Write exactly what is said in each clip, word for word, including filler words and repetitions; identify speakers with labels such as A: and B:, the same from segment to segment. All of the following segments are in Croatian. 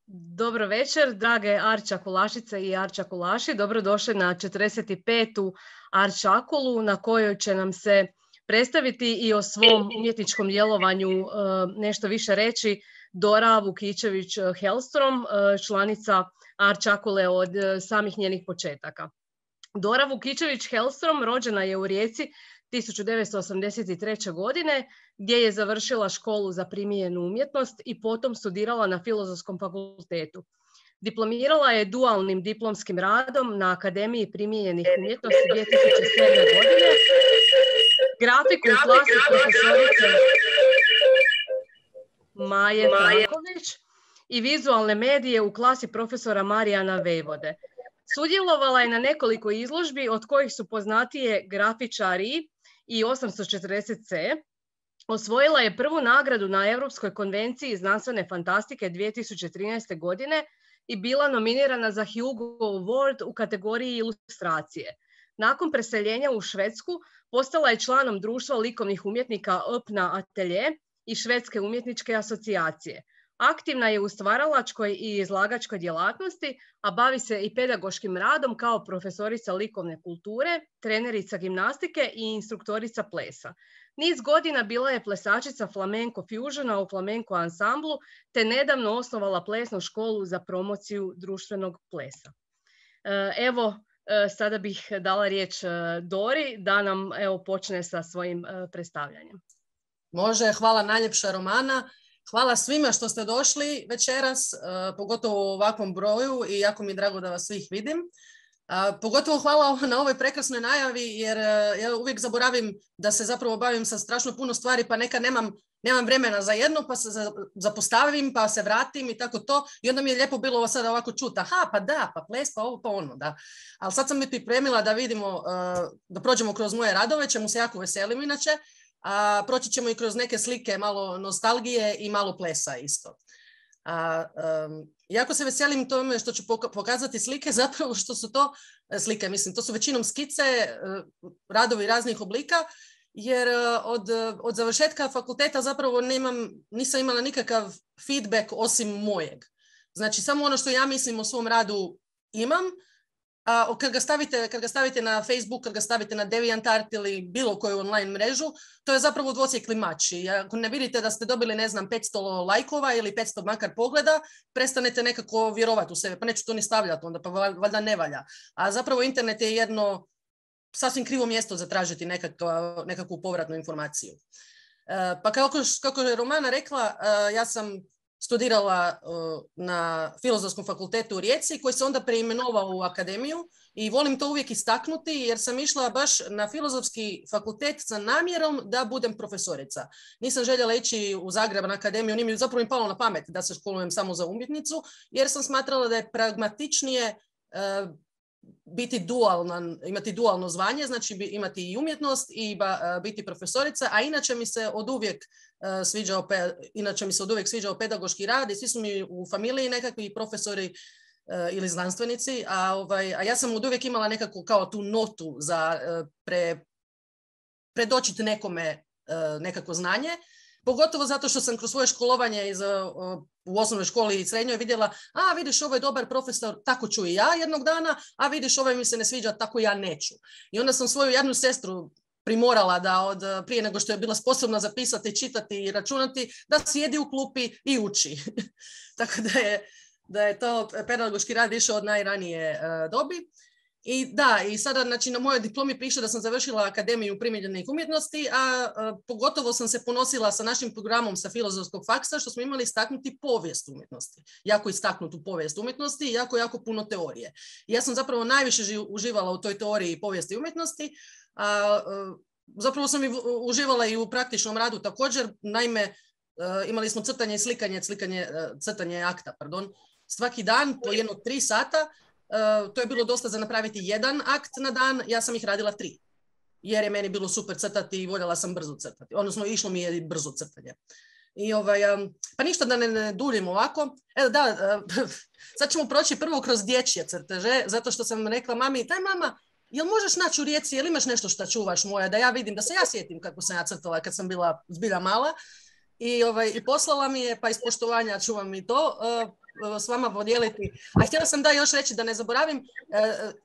A: Dobro večer, drage Arčakulašice i Arčakulaši. Dobrodošli na četrdeset petu Arčakulu na kojoj će nam se predstaviti i o svom umjetničkom djelovanju nešto više reći Dora Vukičević-Hellstrom, članica Arčakule od samih njenih početaka. Dora Vukičević-Hellstrom rođena je u Rijeci tisuću devetsto osamdeset treće. godine, gdje je završila školu za primijenjenu umjetnost i potom studirala na Filozofskom fakultetu. Diplomirala je dualnim diplomskim radom na Akademiji primijenjenih umjetnosti dvije tisuće sedme. godine, grafiku u klasi profesorice Maje Franković i vizualne medije u klasi profesora Marijana Vejvode. Sudjelovala je na nekoliko izložbi, od kojih su poznatije Grafičari i osamsto četrdeset ce. Osvojila je prvu nagradu na Europskoj konvenciji znanstvene fantastike dvije tisuće trinaeste. godine i bila nominirana za Hugo Award u kategoriji ilustracije. Nakon preseljenja u Švedsku postala je članom društva likovnih umjetnika Öppna Atelje i Švedske umjetničke asocijacije. Aktivna je u stvaralačkoj i izlagačkoj djelatnosti, a bavi se i pedagoškim radom kao profesorica likovne kulture, trenerica gimnastike i instruktorica plesa. Niz godina bila je plesačica flamenco fusiona u flamenco ansamblu, te nedavno osnovala plesnu školu za promociju društvenog plesa. Evo, sada bih dala riječ Dori da nam evo, počne sa svojim predstavljanjem.
B: Može, hvala najljepša Romana. Hvala svima što ste došli večeras, pogotovo u ovakvom broju i jako mi je drago da vas svih vidim. Pogotovo hvala na ovoj prekrasnoj najavi jer ja uvijek zaboravim da se zapravo bavim sa strašno puno stvari pa nekad nemam, nemam vremena za jedno pa se zapostavim pa se vratim i tako to i onda mi je lijepo bilo ovo sada ovako čuti, aha pa da, pa ples, pa ovo, pa ono, da. Ali sad sam mi pripremila da vidimo, da prođemo kroz moje radove, čemu se jako veselim inače. A, proći ćemo i kroz neke slike, malo nostalgije i malo plesa isto. A, um, jako se veselim tome što ću pokazati slike, zapravo što su to slike, mislim, to su većinom skice, radovi raznih oblika, jer od, od završetka fakulteta zapravo nemam, nisam imala nikakav feedback osim mojeg. Znači, samo ono što ja mislim o svom radu imam, a kad ga stavite, kad ga stavite na Facebook, kad ga stavite na DeviantArt ili bilo koju online mrežu, to je zapravo dvosjekli mač. I ako ne vidite da ste dobili, ne znam, petsto lajkova ili petsto makar pogleda, prestanete nekako vjerovati u sebe. Pa neću to ni stavljati onda, pa valjda ne valja. A zapravo internet je jedno sasvim krivo mjesto za tražiti nekakvu, nekakvu povratnu informaciju. Pa kako, kako je Romana rekla, ja sam studirala uh, na Filozofskom fakultetu u Rijeci koji se onda preimenovao u akademiju i volim to uvijek istaknuti jer sam išla baš na Filozofski fakultet sa namjerom da budem profesorica. Nisam željela ići u Zagreb na akademiju, nije mi zapravo im palo na pamet da se školujem samo za umjetnicu jer sam smatrala da je pragmatičnije uh, biti dualna, imati dualno zvanje, znači imati i umjetnost i ba, biti profesorica, a inače mi se od uvijek uh, sviđao, pe, inače mi se od uvijek sviđao pedagoški rad i svi su mi u familiji nekakvi profesori uh, ili znanstvenici, a, ovaj, a ja sam od uvijek imala nekako kao tu notu za uh, pre, predočiti nekome uh, nekako znanje. Pogotovo zato što sam kroz svoje školovanje iz, u osnovnoj školi i srednjoj vidjela, a vidiš ovo je dobar profesor, tako ću i ja jednog dana, a vidiš ovaj mi se ne sviđa, tako ja neću. I onda sam svoju jednu sestru primorala da od prije nego što je bila sposobna zapisati, čitati i računati, da sjedi u klupi i uči. Tako da je, da je to pedagoški rad išao od najranije uh, dobi. I da, i sada znači, na mojoj diplomi piše da sam završila Akademiju primijenjenih umjetnosti, a, a pogotovo sam se ponosila sa našim programom sa Filozofskog faksa, što smo imali istaknuti povijest umjetnosti. Jako istaknutu povijest umjetnosti i jako, jako puno teorije. I ja sam zapravo najviše živ, uživala u toj teoriji povijesti umjetnosti, a, a zapravo sam i uživala i u praktičnom radu također. Naime, a, imali smo crtanje i slikanje, slikanje, crtanje akta, pardon, svaki dan po jedno tri sata. Uh, to je bilo dosta za napraviti jedan akt na dan, ja sam ih radila tri. Jer je meni bilo super crtati i voljela sam brzo crtati. Odnosno, išlo mi je brzo crtanje. I ovaj, um, pa ništa da ne, ne duljim ovako. Evo da, uh, sad ćemo proći prvo kroz dječje crteže, zato što sam rekla mami, daj mama, jel možeš naći u Rijeci, jel imaš nešto što čuvaš moja, da ja vidim, da se ja sjetim kako sam ja crtala kad sam bila zbilja mala. I, ovaj, i poslala mi je, pa iz poštovanja ću vam i to uh, s vama podijeliti. A htjela sam da još reći, da ne zaboravim, uh,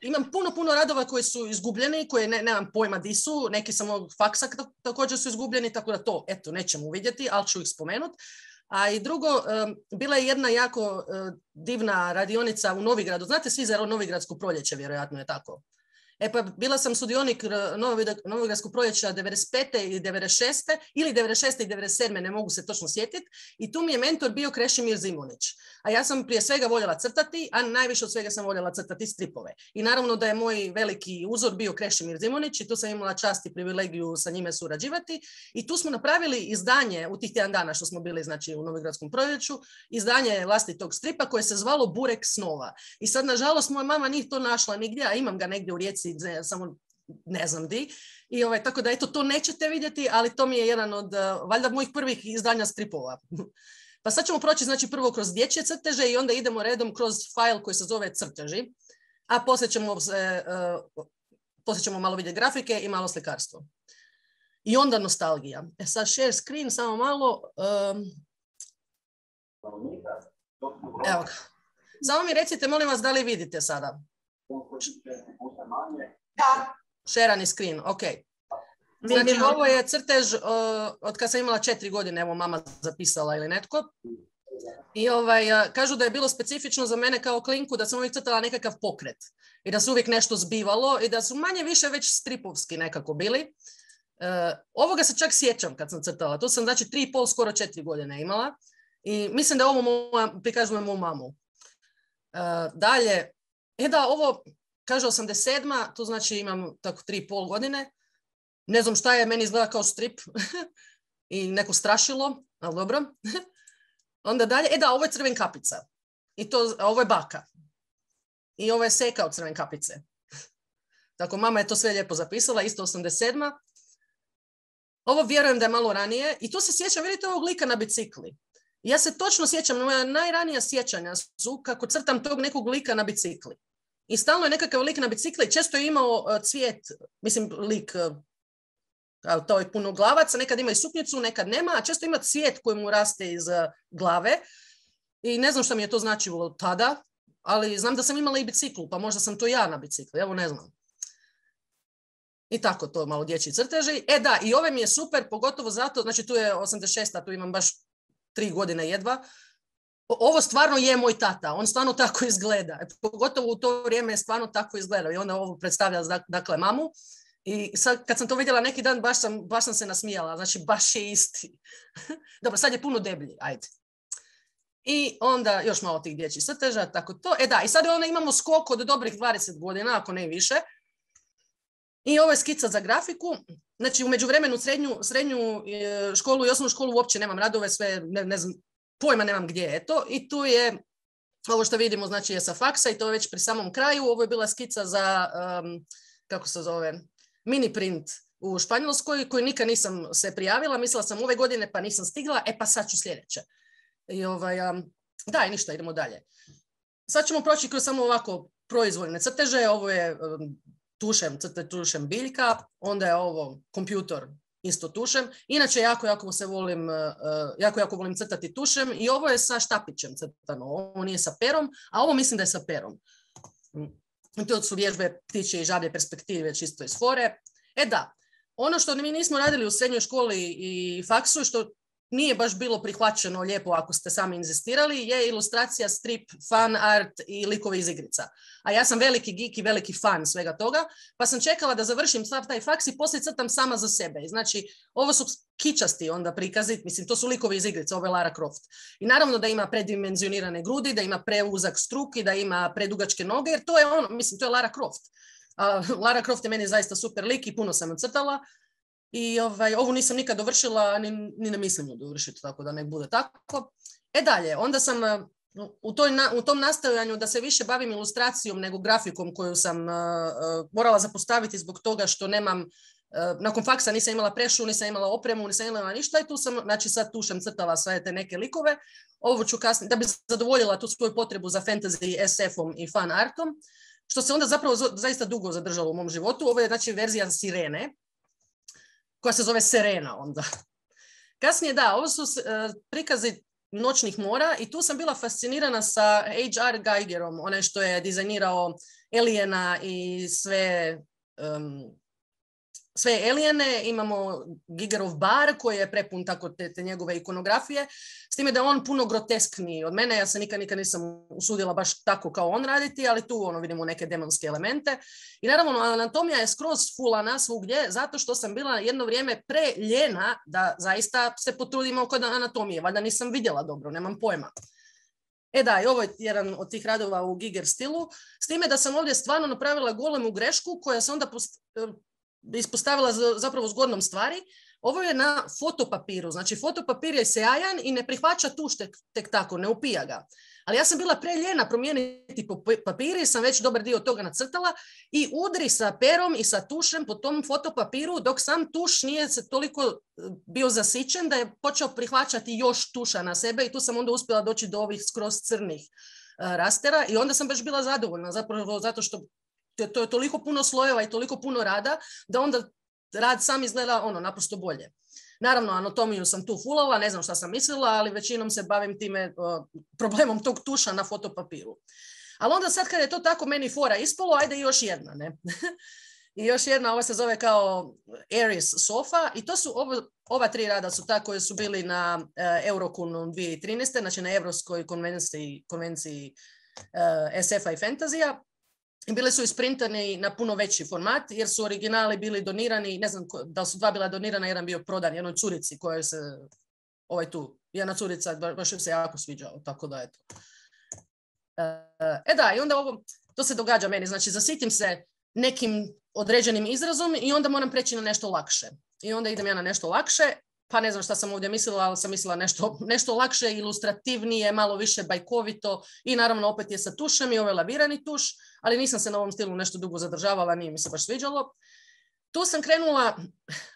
B: imam puno, puno radova koji su izgubljeni, koje ne, nemam pojma di su, neki sam ovog faksa također su izgubljeni, tako da to, eto, nećemo uvidjeti, ali ću ih spomenuti. A i drugo, um, bila je jedna jako uh, divna radionica u Novigradu. Znate svi za Novigradsko proljeće, vjerojatno je tako. E pa bila sam sudionik Novogradskog proljeća devedeset pete i devedeset šeste ili devedeset šeste i devedeset sedme, ne mogu se točno sjetiti. I tu mi je mentor bio Krešimir Zimunić. A ja sam prije svega voljela crtati, a najviše od svega sam voljela crtati stripove. I naravno da je moj veliki uzor bio Krešimir Zimunić i tu sam imala čast i privilegiju sa njime surađivati. I tu smo napravili izdanje u tih tjedan dana što smo bili, znači, u Novogradskom proljeću, izdanje vlastitog stripa koje se zvalo Burek snova. I sad, nažalost, moja mama nije to našla nigdje, a imam ga negdje u Rijeci, samo ne znam di. I ovaj, tako da eto, to nećete vidjeti, ali to mi je jedan od, uh, valjda, mojih prvih izdanja stripova. Pa sad ćemo proći, znači, prvo kroz dječje crteže i onda idemo redom kroz fajl koji se zove crteži, a poslije ćemo, se, uh, poslije ćemo malo vidjeti grafike i malo slikarstvo. I onda nostalgija. E sad share screen, samo malo. Um, evo ga. Samo mi recite, molim vas, da li vidite sada? Da. Šerani screen, ok. Znači, ovo je crtež uh, od kad sam imala četiri godine, evo mama zapisala ili netko. I ovaj, uh, kažu da je bilo specifično za mene kao klinku da sam uvijek crtala nekakav pokret. I da se uvijek nešto zbivalo i da su manje više već stripovski nekako bili. Uh, ovoga se čak sjećam kad sam crtala. To sam, znači, tri i pol, skoro četiri godine imala. I mislim da ovo moja, prikazujem moju mamu. Uh, dalje, e da, ovo... Kaže osamdeset sedma, to znači imam tako tri i pol godine. Ne znam šta je, meni izgleda kao strip i neko strašilo, ali dobro. Onda dalje, e da, ovo je Crven kapica. I to, ovo je baka. I ovo je Seka od Crven kapice. Tako, mama je to sve lijepo zapisala, isto osamdeset sedma. Ovo vjerujem da je malo ranije. I tu se sjećam, vidite ovog lika na bicikli. Ja se točno sjećam, moja najranija sjećanja su kako crtam tog nekog lika na bicikli. I stalno je nekakav lik na bicikli, često je imao uh, cvijet, mislim lik, uh, to je puno glavaca, nekad ima i suknjicu, nekad nema, a često ima cvijet koji mu raste iz uh, glave. I ne znam što mi je to značilo tada, ali znam da sam imala i biciklu, pa možda sam to ja na bicikli, evo ne znam. I tako, to malo dječji crteži. E da, i ove mi je super, pogotovo zato, znači tu je osamdeset šesta, tu imam baš tri godine jedva. Ovo stvarno je moj tata, on stvarno tako izgleda. Pogotovo u to vrijeme je stvarno tako izgledao i onda ovo predstavlja, dakle, mamu. I sad kad sam to vidjela neki dan, baš sam, baš sam se nasmijala, znači baš je isti. Dobro, sad je puno deblji, ajde. I onda još malo tih dječjih crteža, tako to. E da, i sad onda imamo skok od dobrih dvadeset godina, ako ne više. I ovo je skica za grafiku. Znači, u međuvremenu srednju, srednju školu i osnovnu školu uopće nemam radove, sve, ne, ne znam, pojma nemam gdje je to. I tu je, ovo što vidimo, znači je sa faksa i to je već pri samom kraju. Ovo je bila skica za, um, kako se zove, mini print u Španjolskoj, koju nikad nisam se prijavila. Mislila sam ove godine pa nisam stigla, e pa sad ću sljedeće. I ovaj, um, da, i ništa, idemo dalje. Sad ćemo proći kroz samo ovako proizvoljne crteže. Ovo je um, tušem, crte tušem biljka, onda je ovo kompjutor isto tušem. Inače, jako, jako se volim, uh, jako, jako volim crtati tušem i ovo je sa štapićem crtano. Ovo nije sa perom, a ovo mislim da je sa perom. I to su vježbe ptičje i žablje perspektive, čisto iz fore. E da, ono što mi nismo radili u srednjoj školi i faksu, što nije baš bilo prihvaćeno lijepo ako ste sami inzistirali, je ilustracija, strip, fan art i likovi iz igrica. A ja sam veliki geek i veliki fan svega toga, pa sam čekala da završim sav taj faks i poslije crtam sama za sebe. Znači, ovo su kičasti onda prikazi, mislim, to su likovi iz igrica, ovo je Lara Croft. I naravno da ima predimenzionirane grudi, da ima preuzak struk i da ima predugačke noge, jer to je ono, mislim, to je Lara Croft. Uh, Lara Croft je meni zaista super lik i puno sam crtala. I ovaj, ovu nisam nikad dovršila, ni, ni ne mislim ju dovršiti, tako da nek bude tako. E dalje, onda sam u, toj na, u tom nastojanju da se više bavim ilustracijom nego grafikom koju sam uh, uh, morala zapostaviti zbog toga što nemam, uh, nakon faksa nisam imala prešu, nisam imala opremu, nisam imala ništa i tu sam, znači sad tu sam crtala sve te neke likove. Ovo ću kasnije, da bi zadovoljila tu svoju potrebu za fantasy, es efom i fan artom, što se onda zapravo zaista dugo zadržalo u mom životu. Ovo je znači verzija Sirene, koja se zove Serena onda. Kasnije, da, ovo su uh, prikazi noćnih mora i tu sam bila fascinirana sa H R Geigerom, onaj što je dizajnirao Aliena i sve... Um, sve Aliene, imamo Gigerov bar koji je prepun tako te, te njegove ikonografije, s time da je on puno groteskniji od mene, ja se nikad, nikad nisam usudila baš tako kao on raditi, ali tu ono vidimo neke demonske elemente. I naravno, anatomija je skroz fulana svugdje, zato što sam bila jedno vrijeme preljena da zaista se potrudim oko anatomije, valjda nisam vidjela dobro, nemam pojma. E da, i ovo je jedan od tih radova u Giger stilu, s time da sam ovdje stvarno napravila golemu grešku koja se onda post... ispostavila zapravo zgodnom stvari. Ovo je na fotopapiru, znači fotopapir je sjajan i ne prihvaća tuš tek, tek tako, ne upija ga. Ali ja sam bila preljena promijeniti papir i sam već dobar dio toga nacrtala i udri sa perom i sa tušem po tom fotopapiru dok sam tuš nije se toliko bio zasićen da je počeo prihvaćati još tuša na sebe i tu sam onda uspjela doći do ovih skroz crnih uh, rastera i onda sam baš bila zadovoljna zapravo zato što to je toliko puno slojeva i toliko puno rada da onda rad sam izgleda ono naprosto bolje. Naravno, anatomiju sam tu fulala, ne znam šta sam mislila, ali većinom se bavim time uh, problemom tog tuša na fotopapiru. Ali onda sad kad je to tako meni fora ispalo, ajde još jedna, ne? I još jedna, ova se zove kao Aries Sofa i to su ovo, ova tri rada su ta koje su bili na uh, Euroconu dvije tisuće trinaeste. Znači na Europskoj konvenciji, konvenciji uh, S F-a i fantazija. I bile su isprintane na puno veći format, jer su originali bili donirani, ne znam da su dva bila donirana, jedan bio prodan jednoj curici koja se, ovaj tu, jedna curica, baš se jako sviđao, tako da eto. E da, i onda ovo, to se događa meni, znači zasitim se nekim određenim izrazom i onda moram preći na nešto lakše. I onda idem ja na nešto lakše, pa ne znam šta sam ovdje mislila, ali sam mislila nešto, nešto lakše, ilustrativnije, malo više bajkovito i naravno opet je sa tušem i ovaj lavirani tuš, ali nisam se na ovom stilu nešto dugo zadržavala, nije mi se baš sviđalo. Tu sam krenula,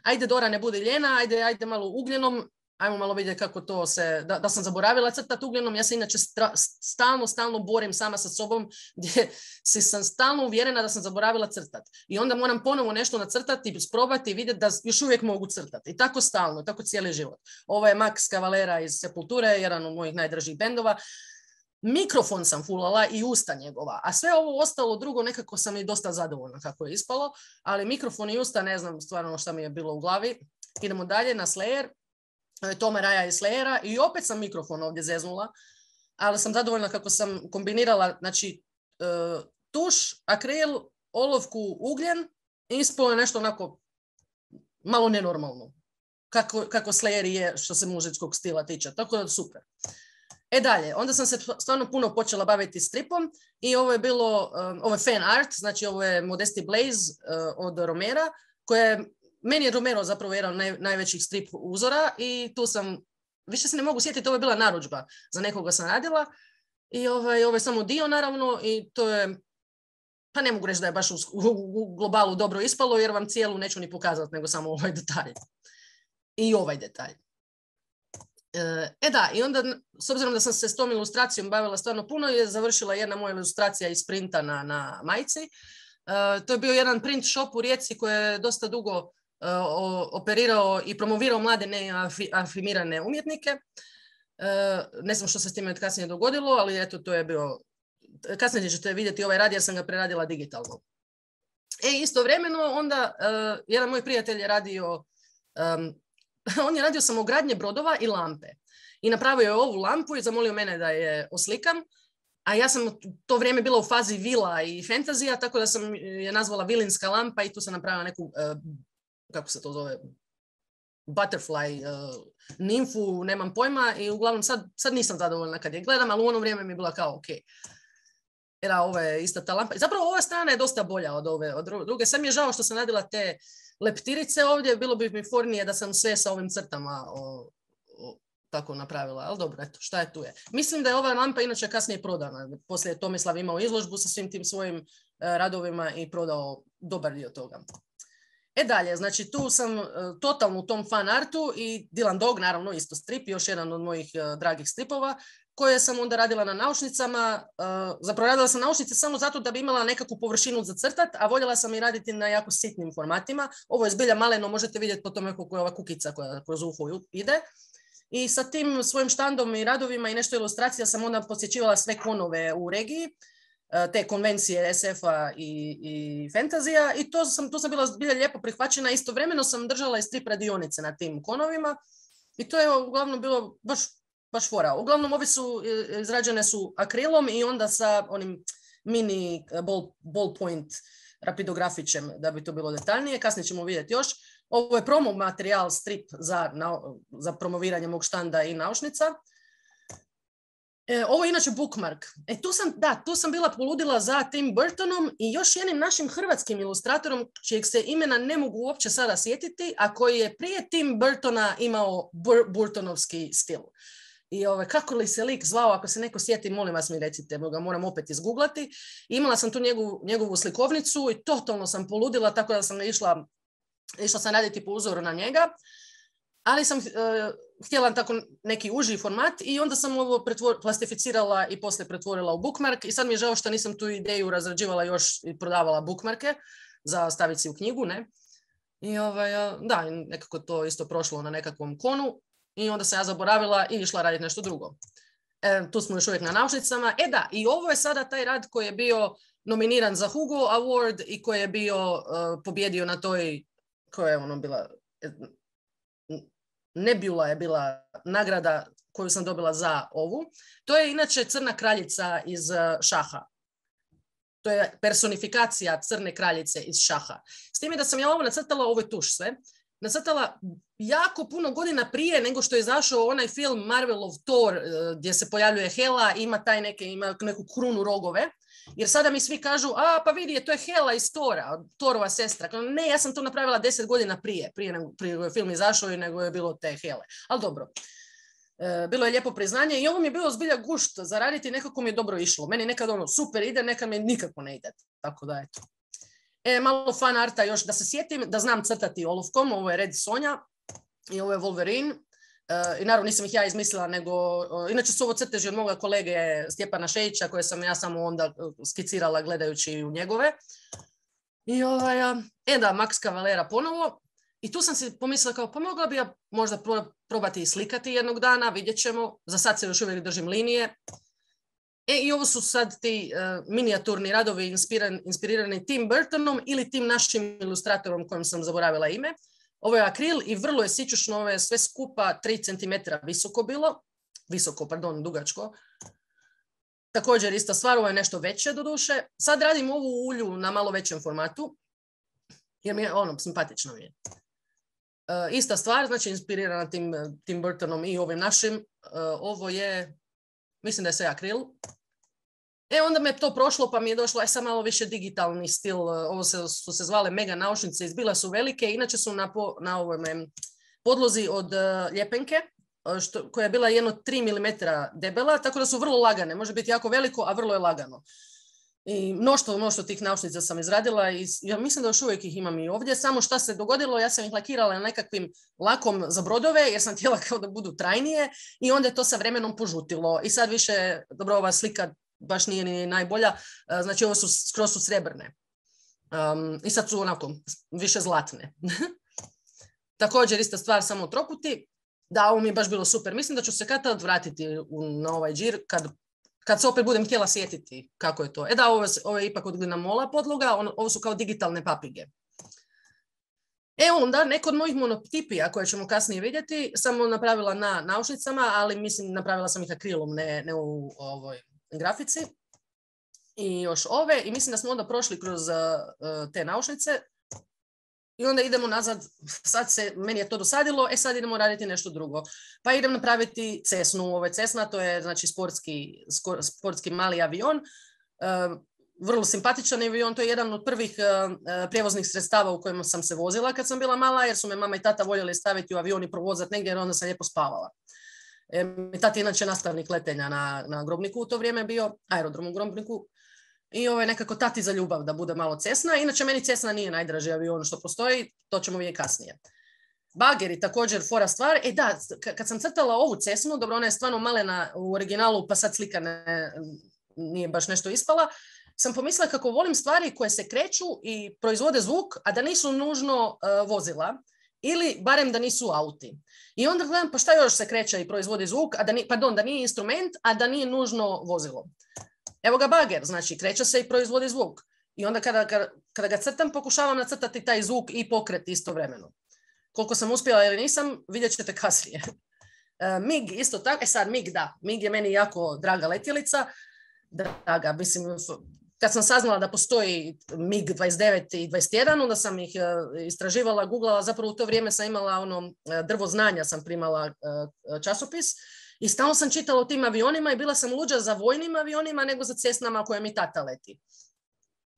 B: ajde Dora ne budi ljena, ajde, ajde malo ugljenom, ajmo malo vidjeti kako to se, da, da sam zaboravila crtati ugljenom, ja se inače stra, stalno, stalno borim sama sa sobom, gdje si sam stalno uvjerena da sam zaboravila crtati. I onda moram ponovo nešto nacrtati, sprobati i vidjeti da još uvijek mogu crtati. I tako stalno, tako cijeli život. Ovo je Max Cavalera iz Sepulture, jedan od mojih najdražih bendova. Mikrofon sam fulala i usta njegova, a sve ovo ostalo drugo nekako sam i dosta zadovoljna kako je ispalo, ali mikrofon i usta ne znam stvarno šta mi je bilo u glavi. Idemo dalje na Slayer. Toma Raja iz Slayera i opet sam mikrofon ovdje zeznula, ali sam zadovoljna kako sam kombinirala znači, tuš, akril, olovku, ugljen i ispalo je nešto onako malo nenormalno, kako, kako Slayer je što se muzičkog stila tiče, tako da super. E dalje, onda sam se stvarno puno počela baviti stripom i ovo je bilo, ovo je fan art, znači ovo je Modesty Blaze od Romera, koja je meni je Romero zapravo jedan od naj, najvećih strip uzora i tu sam, više se ne mogu sjetiti, ovo je bila narudžba, za nekoga sam radila i ovaj, ovo je samo dio naravno i to je, pa ne mogu reći da je baš u, u, u globalu dobro ispalo jer vam cijelu neću ni pokazati nego samo ovaj detalj. I ovaj detalj. E da, i onda s obzirom da sam se s tom ilustracijom bavila stvarno puno je završila jedna moja ilustracija iz printa na, na majici. E, to je bio jedan print shop u Rijeci koji je dosta dugo operirao i promovirao mlade neafirmirane umjetnike. Ne znam što se s time kasnije dogodilo, ali eto, to je bio... Kasnije ćete vidjeti ovaj rad jer sam ga preradila digitalno. E, istovremeno onda uh, jedan moj prijatelj je radio um, on je radio samogradnje brodova i lampe. I napravio je ovu lampu i zamolio mene da je oslikam. A ja sam to vrijeme bila u fazi vila i fantazija, tako da sam je nazvala vilinska lampa i tu sam napravila neku... Uh, kako se to zove, butterfly, uh, nimfu, nemam pojma i uglavnom sad, sad nisam zadovoljna kad je gledam, ali u ono vrijeme mi je bila kao ok. Jer ovo je ista ta lampa. Zapravo ova strana je dosta bolja od ove od druge. Sad mi je žao što sam radila te leptirice ovdje, bilo bi mi fornije da sam sve sa ovim crtama o, o, tako napravila, ali dobro, eto, šta je tu je. Mislim da je ova lampa inače kasnije prodana. Poslije je Tomislav imao izložbu sa svim tim svojim uh, radovima i prodao dobar dio toga. E dalje, znači tu sam uh, totalno u tom fan artu i Dylan Dog, naravno isto strip, još jedan od mojih uh, dragih stripova. koje sam onda radila na naušnicama. Uh, zapravo radila sam naušnice samo zato da bi imala nekakvu površinu za crtat, a voljela sam i raditi na jako sitnim formatima. Ovo je zbilja maleno, možete vidjeti po tome kako je ova kukica koja kroz uho ide. I sa tim svojim štandom i radovima i nešto ilustracija sam onda posjećivala sve konove u regiji, te konvencije es efa i, i fantazija, i to sam, tu sam bila zbilja lijepo prihvaćena. Istovremeno sam držala i strip radionice na tim konovima i to je uglavnom bilo baš, baš fora. Uglavnom ovi su izrađene su akrilom i onda sa onim mini ball, ballpoint rapidografićem da bi to bilo detaljnije. Kasnije ćemo vidjeti još. Ovo je promo materijal, strip za, na, za promoviranje mog štanda i naušnica. E, ovo je inače bookmark. E, tu sam, da, tu sam bila poludila za Tim Burtonom i još jednim našim hrvatskim ilustratorom, čijeg se imena ne mogu uopće sada sjetiti, a koji je prije Tim Burtona imao bur, burtonovski stil. I ove, kako li se lik zvao, ako se neko sjeti, molim vas mi recite, ga moram opet izgooglati. Imala sam tu njegovu, njegovu slikovnicu i totalno sam poludila, tako da sam išla, išla sam raditi po uzoru na njega. Ali sam uh, htjela tako neki uži format i onda sam ovo pretvor, plastificirala i poslije pretvorila u bookmark i sad mi je žao što nisam tu ideju razrađivala još i prodavala bookmarke za staviti si u knjigu, ne? I ovaj, da, nekako to isto prošlo na nekakvom konu i onda sam ja zaboravila i išla raditi nešto drugo. E, tu smo još uvijek na naušnicama. E da, i ovo je sada taj rad koji je bio nominiran za Hugo Award i koji je bio uh, pobjedio na toj, koja je ono bila... Nebula je bila nagrada koju sam dobila za ovu. To je inače Crna kraljica iz šaha. To je personifikacija Crne kraljice iz šaha. S time da sam ja ovo nacrtala, ovo je tuš sve, nacrtala jako puno godina prije nego što je izašao onaj film Marvelov Thor gdje se pojavljuje Hela, ima taj neke, ima neku krunu rogove. Jer sada mi svi kažu, a pa vidi, to je Hela iz Tora, Thorova sestra. Ne, ja sam to napravila deset godina prije, prije nego prije je film izašao i nego je bilo te Hele. Ali dobro, e, bilo je lijepo priznanje i ovo mi je bilo zbilja gušt za raditi, nekako mi je dobro išlo. Meni nekad ono super ide, nekad mi nikako ne ide. Tako da eto. E, malo fan arta još da se sjetim, da znam crtati olovkom, ovo je Red Sonja i ovo je Wolverine. Uh, I naravno nisam ih ja izmislila, nego uh, inače su ovo crteži od moga kolege Stjepana Šejića koje sam ja samo onda skicirala gledajući u njegove. I ovaj, uh, e da, Max Cavalera ponovo. I tu sam si pomislila kao, pa mogla bi ja možda probati i slikati jednog dana, vidjet ćemo. Za sad se još uvijek držim linije. E, i ovo su sad ti uh, minijaturni radovi inspiran, inspirirani Tim Burtonom ili tim našim ilustratorom kojem sam zaboravila ime. Ovo je akril i vrlo je sićušno, ovo je sve skupa tri centimetra visoko bilo. Visoko, pardon, dugačko. Također ista stvar, ovo je nešto veće do duše. Sad radim ovu ulju na malo većem formatu, jer mi je ono, simpatično mi je. Uh, ista stvar, znači inspirirana tim, Tim Burtonom i ovim našim. Uh, ovo je, mislim da je sve akril. E, onda me to prošlo, pa mi je došlo, aj sad malo više digitalni stil. Ovo se, su se zvale mega naušnice, izbile su velike, inače su na, po, na ovome podlozi od uh, ljepenke, što, koja je bila jedno tri milimetra debela, tako da su vrlo lagane. Može biti jako veliko, a vrlo je lagano. I mnoštvo, mnoštvo tih naušnica sam izradila i ja mislim da još uvijek ih imam i ovdje. Samo šta se dogodilo, ja sam ih lakirala na nekakvim lakom za brodove, jer sam htjela kao da budu trajnije i onda je to sa vremenom požutilo. I sad više, dobro, ova slika baš nije ni najbolja, znači ovo su skroz su srebrne. Um, I sad su onako više zlatne. Također ista stvar, samo troputi. Da, ovo mi je baš bilo super. Mislim da ću se kad tad vratiti u, na ovaj džir, kad, kad se opet budem htjela sjetiti kako je to. E da, ovo, ovo je ipak od glinamola podloga, on, ovo su kao digitalne papige. E onda, neko od mojih monotipija koje ćemo kasnije vidjeti, sam napravila na naušnicama, ali mislim napravila sam ih akrilom, ne, ne u ovoj grafici. I još ove, i mislim da smo onda prošli kroz uh, te naušnice. I onda idemo nazad, sad se, meni je to dosadilo, e sad idemo raditi nešto drugo. Pa idem napraviti Cessnu, ovo je Cessna, to je znači sportski, sportski mali avion. Uh, vrlo simpatičan avion, to je jedan od prvih uh, prijevoznih sredstava u kojima sam se vozila kad sam bila mala, jer su me mama i tata voljeli staviti u avion i provozati negdje, jer onda sam lijepo spavala. E, mi tata je inače nastavnik letenja na, na Grobniku u to vrijeme bio, aerodrom u Grobniku. I ovo je nekako tati za ljubav da bude malo Cessna. Inače, meni Cessna nije najdraži avion što postoji, to ćemo vidjeti kasnije. bageri također fora stvar. E da, kad sam crtala ovu Cessnu, dobro, ona je stvarno malena u originalu, pa sad slika ne, nije baš nešto ispala, sam pomislila kako volim stvari koje se kreću i proizvode zvuk, a da nisu nužno uh, vozila, ili barem da nisu auti. I onda gledam, pa šta još se kreće i proizvodi zvuk, a da ni, pardon, da nije instrument, a da nije nužno vozilo. Evo ga bager, znači kreće se i proizvodi zvuk. I onda kada, kada, kada ga crtam, pokušavam nacrtati taj zvuk i pokret istovremeno. Koliko sam uspjela ili nisam, vidjet ćete kasnije. Uh, mig isto tako, e sad mig da, mig je meni jako draga letjelica, draga, mislim, kad sam saznala da postoji mig dvadeset devet i dvadeset jedan, onda sam ih uh, istraživala, googlala, zapravo u to vrijeme sam imala ono, uh, drvo znanja, sam primala uh, časopis i stalno sam čitala o tim avionima i bila sam luđa za vojnim avionima nego za Cessnama koje mi tata leti.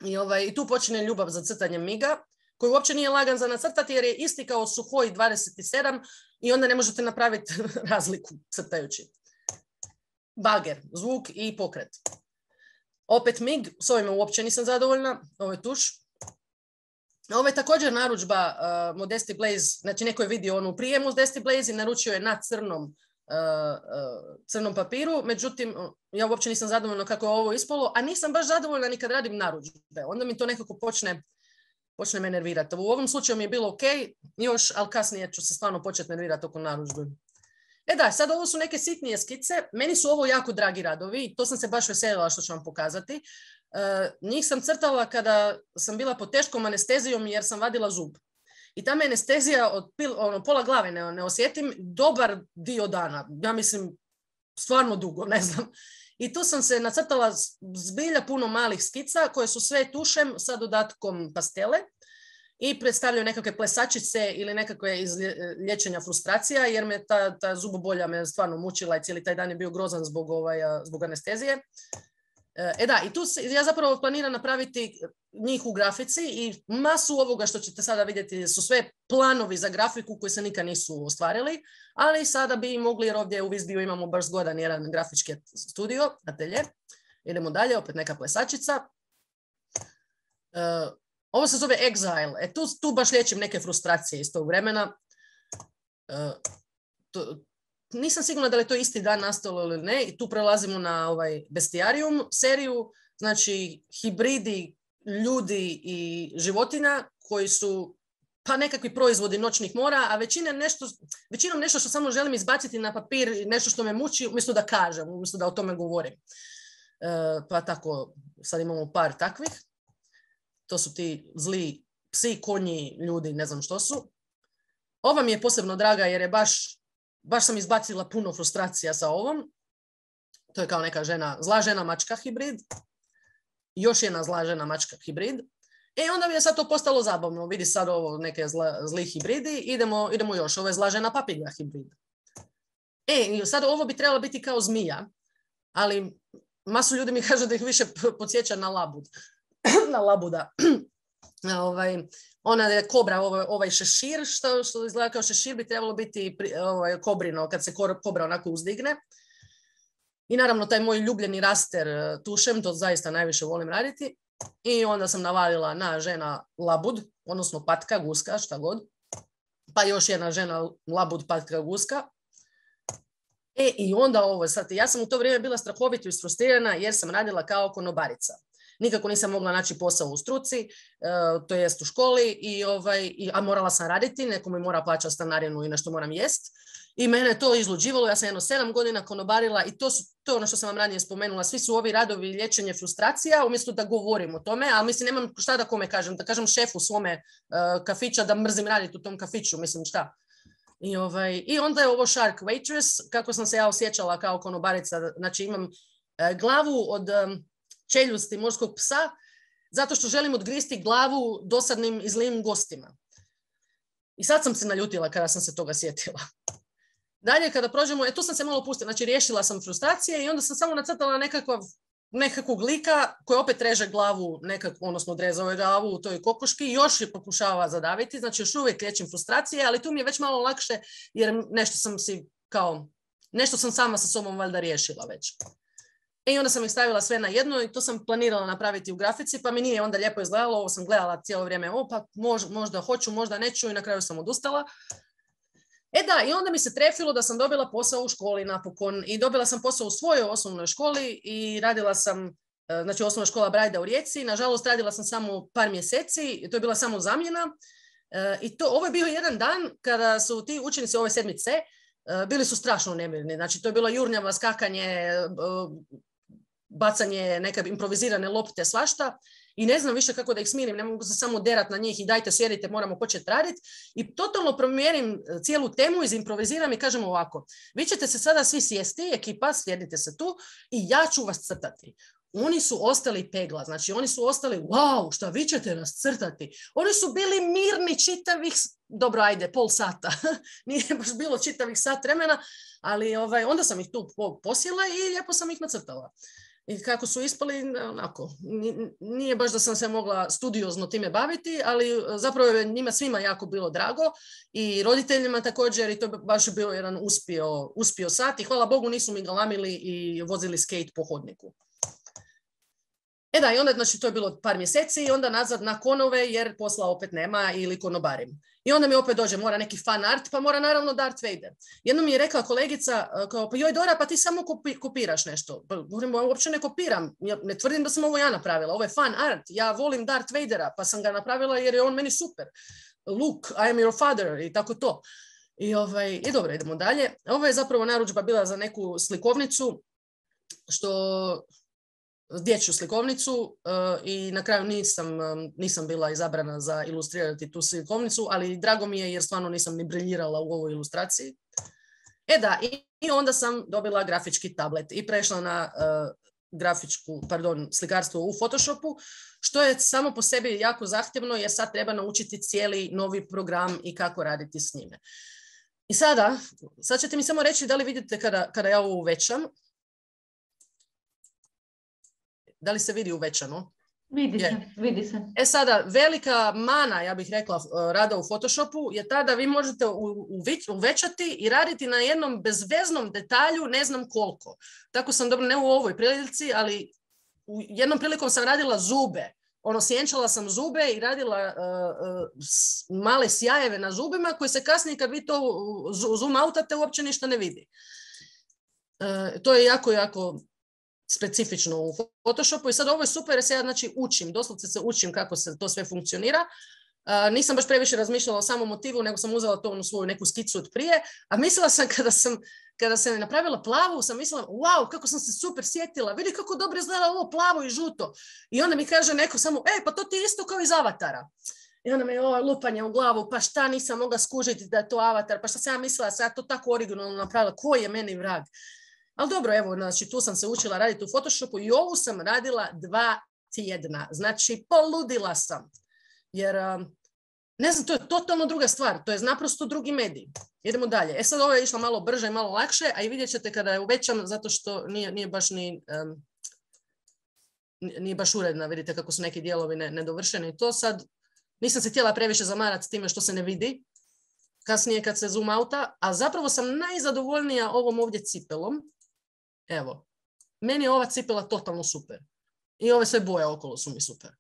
B: I, ovaj, i tu počinje ljubav za crtanje miga, koji uopće nije lagan za nacrtati jer je isti kao Suhoj dvadeset sedam i onda ne možete napraviti razliku crtajući. Bager, zvuk i pokret. Opet mig, s ovime uopće nisam zadovoljna, ovo je tuš. Ovo je također narudžba uh, Modesty Blaze, znači neko je vidio onu prije Modesty Blaze i naručio je na crnom, uh, uh, crnom papiru, međutim ja uopće nisam zadovoljna kako je ovo ispalo, a nisam baš zadovoljna ni kad radim narudžbe, onda mi to nekako počne počne me nervirati. U ovom slučaju mi je bilo ok, još, ali kasnije ću se stvarno početi nervirati oko narudžbe. E da, sad ovo su neke sitnije skice. Meni su ovo jako dragi radovi. To sam se baš veselila što ću vam pokazati. Uh, njih sam crtala kada sam bila pod teškom anestezijom jer sam vadila zub. I ta me anestezija od pil, ono, pola glave ne, ne osjetim dobar dio dana. Ja mislim, stvarno dugo, ne znam. I tu sam se nacrtala zbilja puno malih skica koje su sve tušem sa dodatkom pastele i predstavljaju nekakve plesačice ili nekakve iz liječenja frustracija jer me ta, ta zubobolja me stvarno mučila i cijeli taj dan je bio grozan zbog, ovaj, zbog anestezije. E da, i tu se, ja zapravo planiram napraviti njih u grafici i masu ovoga što ćete sada vidjeti su sve planovi za grafiku koji se nikad nisu ostvarili, ali sada bi mogli jer ovdje u Visbiju imamo baš zgodan jedan grafički studio, atelje. Idemo dalje, opet neka plesačica. Uh, ovo se zove Exile, e tu, tu baš liječim neke frustracije iz tog vremena. Uh, to, Nisam sigurna da li je to isti dan nastalo ili ne i tu prelazimo na ovaj Bestiarium seriju, znači hibridi ljudi i životinja koji su pa nekakvi proizvodi noćnih mora, a većina nešto, većinom nešto što samo želim izbaciti na papir, nešto što me muči, umjesto da kažem, umjesto da o tome govorim. E, pa tako, sad imamo par takvih. To su ti zli psi, konji, ljudi, ne znam što su. Ova mi je posebno draga jer je baš Baš sam izbacila puno frustracija sa ovom. To je kao neka žena, zla žena mačka hibrid. Još jedna zla žena mačka hibrid. E onda mi je sad to postalo zabavno. Vidi sad ovo neke zla, zli hibridi. Idemo, idemo još. Ovo je zla žena papiga hibrid. E, sad ovo bi trebalo biti kao zmija. Ali masu ljudi mi kažu da ih više podsjeća na labud. na labuda. ovaj... Ona je kobra, ovaj, ovaj šešir, što, što izgleda kao šešir, bi trebalo biti ovaj, kobrino, kad se kobra onako uzdigne. I naravno, taj moj ljubljeni raster tušem, to zaista najviše volim raditi. I onda sam navalila na žena labud, odnosno patka, guska, šta god. Pa još jedna žena labud, patka, guska. E, i onda ovo, sad, ja sam u to vrijeme bila strahovito isfrustrirana jer sam radila kao konobarica. Nikako nisam mogla naći posao u struci, to jest u školi, i ovaj, i, a morala sam raditi, neko mi mora plaćati stanarinu i nešto moram jest. I mene je to izluđivalo, ja sam jedno sedam godina konobarila i to, su, to je ono što sam vam ranije spomenula, svi su ovi radovi liječenje frustracija, umjesto da govorim o tome, ali mislim nemam šta da kome kažem, da kažem šefu svome uh, kafića da mrzim raditi u tom kafiću, mislim šta. I, ovaj, i onda je ovo Shark Waitress, kako sam se ja osjećala kao konobarica, znači imam uh, glavu od... Um, čeljusti morskog psa, zato što želim odgristi glavu dosadnim i zlim gostima. I sad sam se naljutila kada sam se toga sjetila. Dalje, kada prođemo, e, tu sam se malo pustila, znači riješila sam frustracije i onda sam samo nacrtala nekakav, nekakvog lika koji opet reže glavu, nekak, odnosno odrezao je glavu u toj kokoški i još je pokušava zadaviti, znači još uvijek liječim frustracije, ali tu mi je već malo lakše jer nešto sam si kao, nešto sam sama sa sobom valjda riješila već. I onda sam ih stavila sve na jedno i to sam planirala napraviti u grafici, pa mi nije onda lijepo izgledalo, ovo sam gledala cijelo vrijeme, o pa mož, možda hoću, možda neću i na kraju sam odustala. E da, i onda mi se trefilo da sam dobila posao u školi napokon i dobila sam posao u svojoj osnovnoj školi i radila sam, znači osnovna škola Brajda u Rijeci. Nažalost, radila sam samo par mjeseci, to je bila samo zamjena. I to, ovo je bio jedan dan kada su ti učenici ove sedmice bili su strašno nemirni. Znači, to je bilo jurnjava, skakanje, bacanje neke improvizirane lopte, svašta. I ne znam više kako da ih smirim, ne mogu se samo derat na njih i dajte sjedite, moramo početi raditi. I totalno promijenim cijelu temu, izimproviziram i kažem ovako, vi ćete se sada svi sjesti, ekipa, sjedite se tu i ja ću vas crtati. Oni su ostali pegla, znači oni su ostali, wow, šta vi ćete nas crtati? Oni su bili mirni čitavih, dobro ajde, pol sata, nije baš bilo čitavih sat vremena, ali ovaj, onda sam ih tu posjela i lijepo sam ih nacrtala. I kako su ispali, onako, nije baš da sam se mogla studiozno time baviti, ali zapravo je njima svima jako bilo drago i roditeljima također i to je baš bio jedan uspio, uspio sat i hvala Bogu nisu mi galamili i vozili skate po hodniku. E da, i onda, znači, to je bilo par mjeseci i onda nazad na konove jer posla opet nema ili konobarim. I onda mi opet dođe, mora neki fan art, pa mora naravno Darth Vader. Jednom mi je rekla kolegica, kao, pa joj Dora, pa ti samo kopi, kopiraš nešto. Pa govorim, ja uopće ne kopiram, ja ne tvrdim da sam ovo ja napravila, ovo je fan art, ja volim Darth Vadera, pa sam ga napravila jer je on meni super. Luke, I am your father i tako to. I, ovaj, i dobro, idemo dalje. Ovo je zapravo narudžba bila za neku slikovnicu, što... dječju slikovnicu uh, i na kraju nisam, um, nisam bila izabrana za ilustrirati tu slikovnicu, ali drago mi je jer stvarno nisam ni briljirala u ovoj ilustraciji. E da, i, i onda sam dobila grafički tablet i prešla na uh, grafičku, pardon, slikarstvo u Photoshopu, što je samo po sebi jako zahtjevno jer sad treba naučiti cijeli novi program i kako raditi s njime. I sada, sad ćete mi samo reći da li vidite kada, kada ja ovo uvećam. Da li se vidi uvećano?
C: Vidi se, vidi se.
B: E sada, velika mana, ja bih rekla, rada u Photoshopu je ta da vi možete uvećati i raditi na jednom bezveznom detalju ne znam koliko. Tako sam dobro, ne u ovoj prilici, ali u jednom prilikom sam radila zube. Ono, sjenčala sam zube i radila uh, uh, male sjajeve na zubima koji se kasnije kad vi to zoom outate uopće ništa ne vidi. Uh, to je jako, jako... specifično u Photoshopu i sad ovo je super jer se ja znači učim, doslovce se učim kako se to sve funkcionira. Uh, nisam baš previše razmišljala o samom motivu, nego sam uzela to u svoju neku skicu od prije, a mislila sam kada sam, kada sam napravila plavu, sam mislila, wow, kako sam se super sjetila, vidi kako dobro izgleda ovo plavo i žuto. I onda mi kaže neko samo, e, pa to ti je isto kao iz Avatara. I onda me ovo lupanje u glavu, pa šta nisam mogla skužiti da je to Avatar, pa šta sam ja mislila, sam ja to tako originalno napravila, ko je meni vrag? Ali dobro, evo, znači tu sam se učila raditi u Photoshopu i ovu sam radila dva tjedna. Znači, poludila sam. Jer, ne znam, to je totalno druga stvar. To je naprosto drugi medij. Idemo dalje. E sad ovo je išlo malo brže i malo lakše, a i vidjet ćete kada je uvećam, zato što nije, nije baš ni... Um, nije baš uredna. Vidite kako su neki dijelovi ne, nedovršeni. To sad, nisam se htjela previše zamarati s time što se ne vidi. Kasnije kad se zoom outa, a zapravo sam najzadovoljnija ovom ovdje cipelom. Evo, meni je ova cipela totalno super. I ove sve boje okolo su mi super.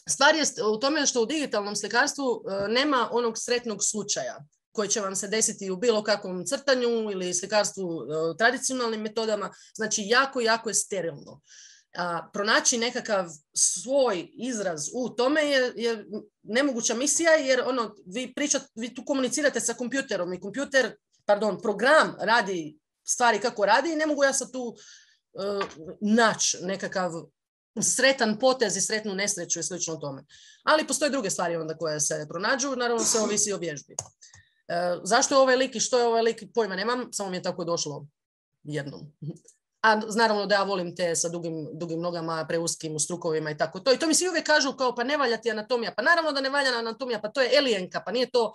B: Stvar je u tome što u digitalnom slikarstvu nema onog sretnog slučaja koji će vam se desiti u bilo kakvom crtanju ili slikarstvu tradicionalnim metodama. Znači, jako, jako je sterilno. A, pronaći nekakav svoj izraz u tome je, je nemoguća misija jer ono, vi, pričat, vi tu komunicirate sa kompjuterom i kompjuter, pardon, program radi stvari kako radi i ne mogu ja sad tu uh, naći nekakav sretan potez i sretnu nesreću i slično tome. Ali postoje druge stvari onda koje se pronađu, naravno se ovisi o vježbi. Uh, zašto je ovaj lik i što je ovaj lik, pojma nemam, samo mi je tako došlo jednom. A naravno da ja volim te sa dugim, dugim nogama, preuskim u strukovima i tako to. I to mi svi uvijek kažu kao pa ne valja ti anatomija. Pa naravno da ne valja anatomija, pa to je alienka, pa nije to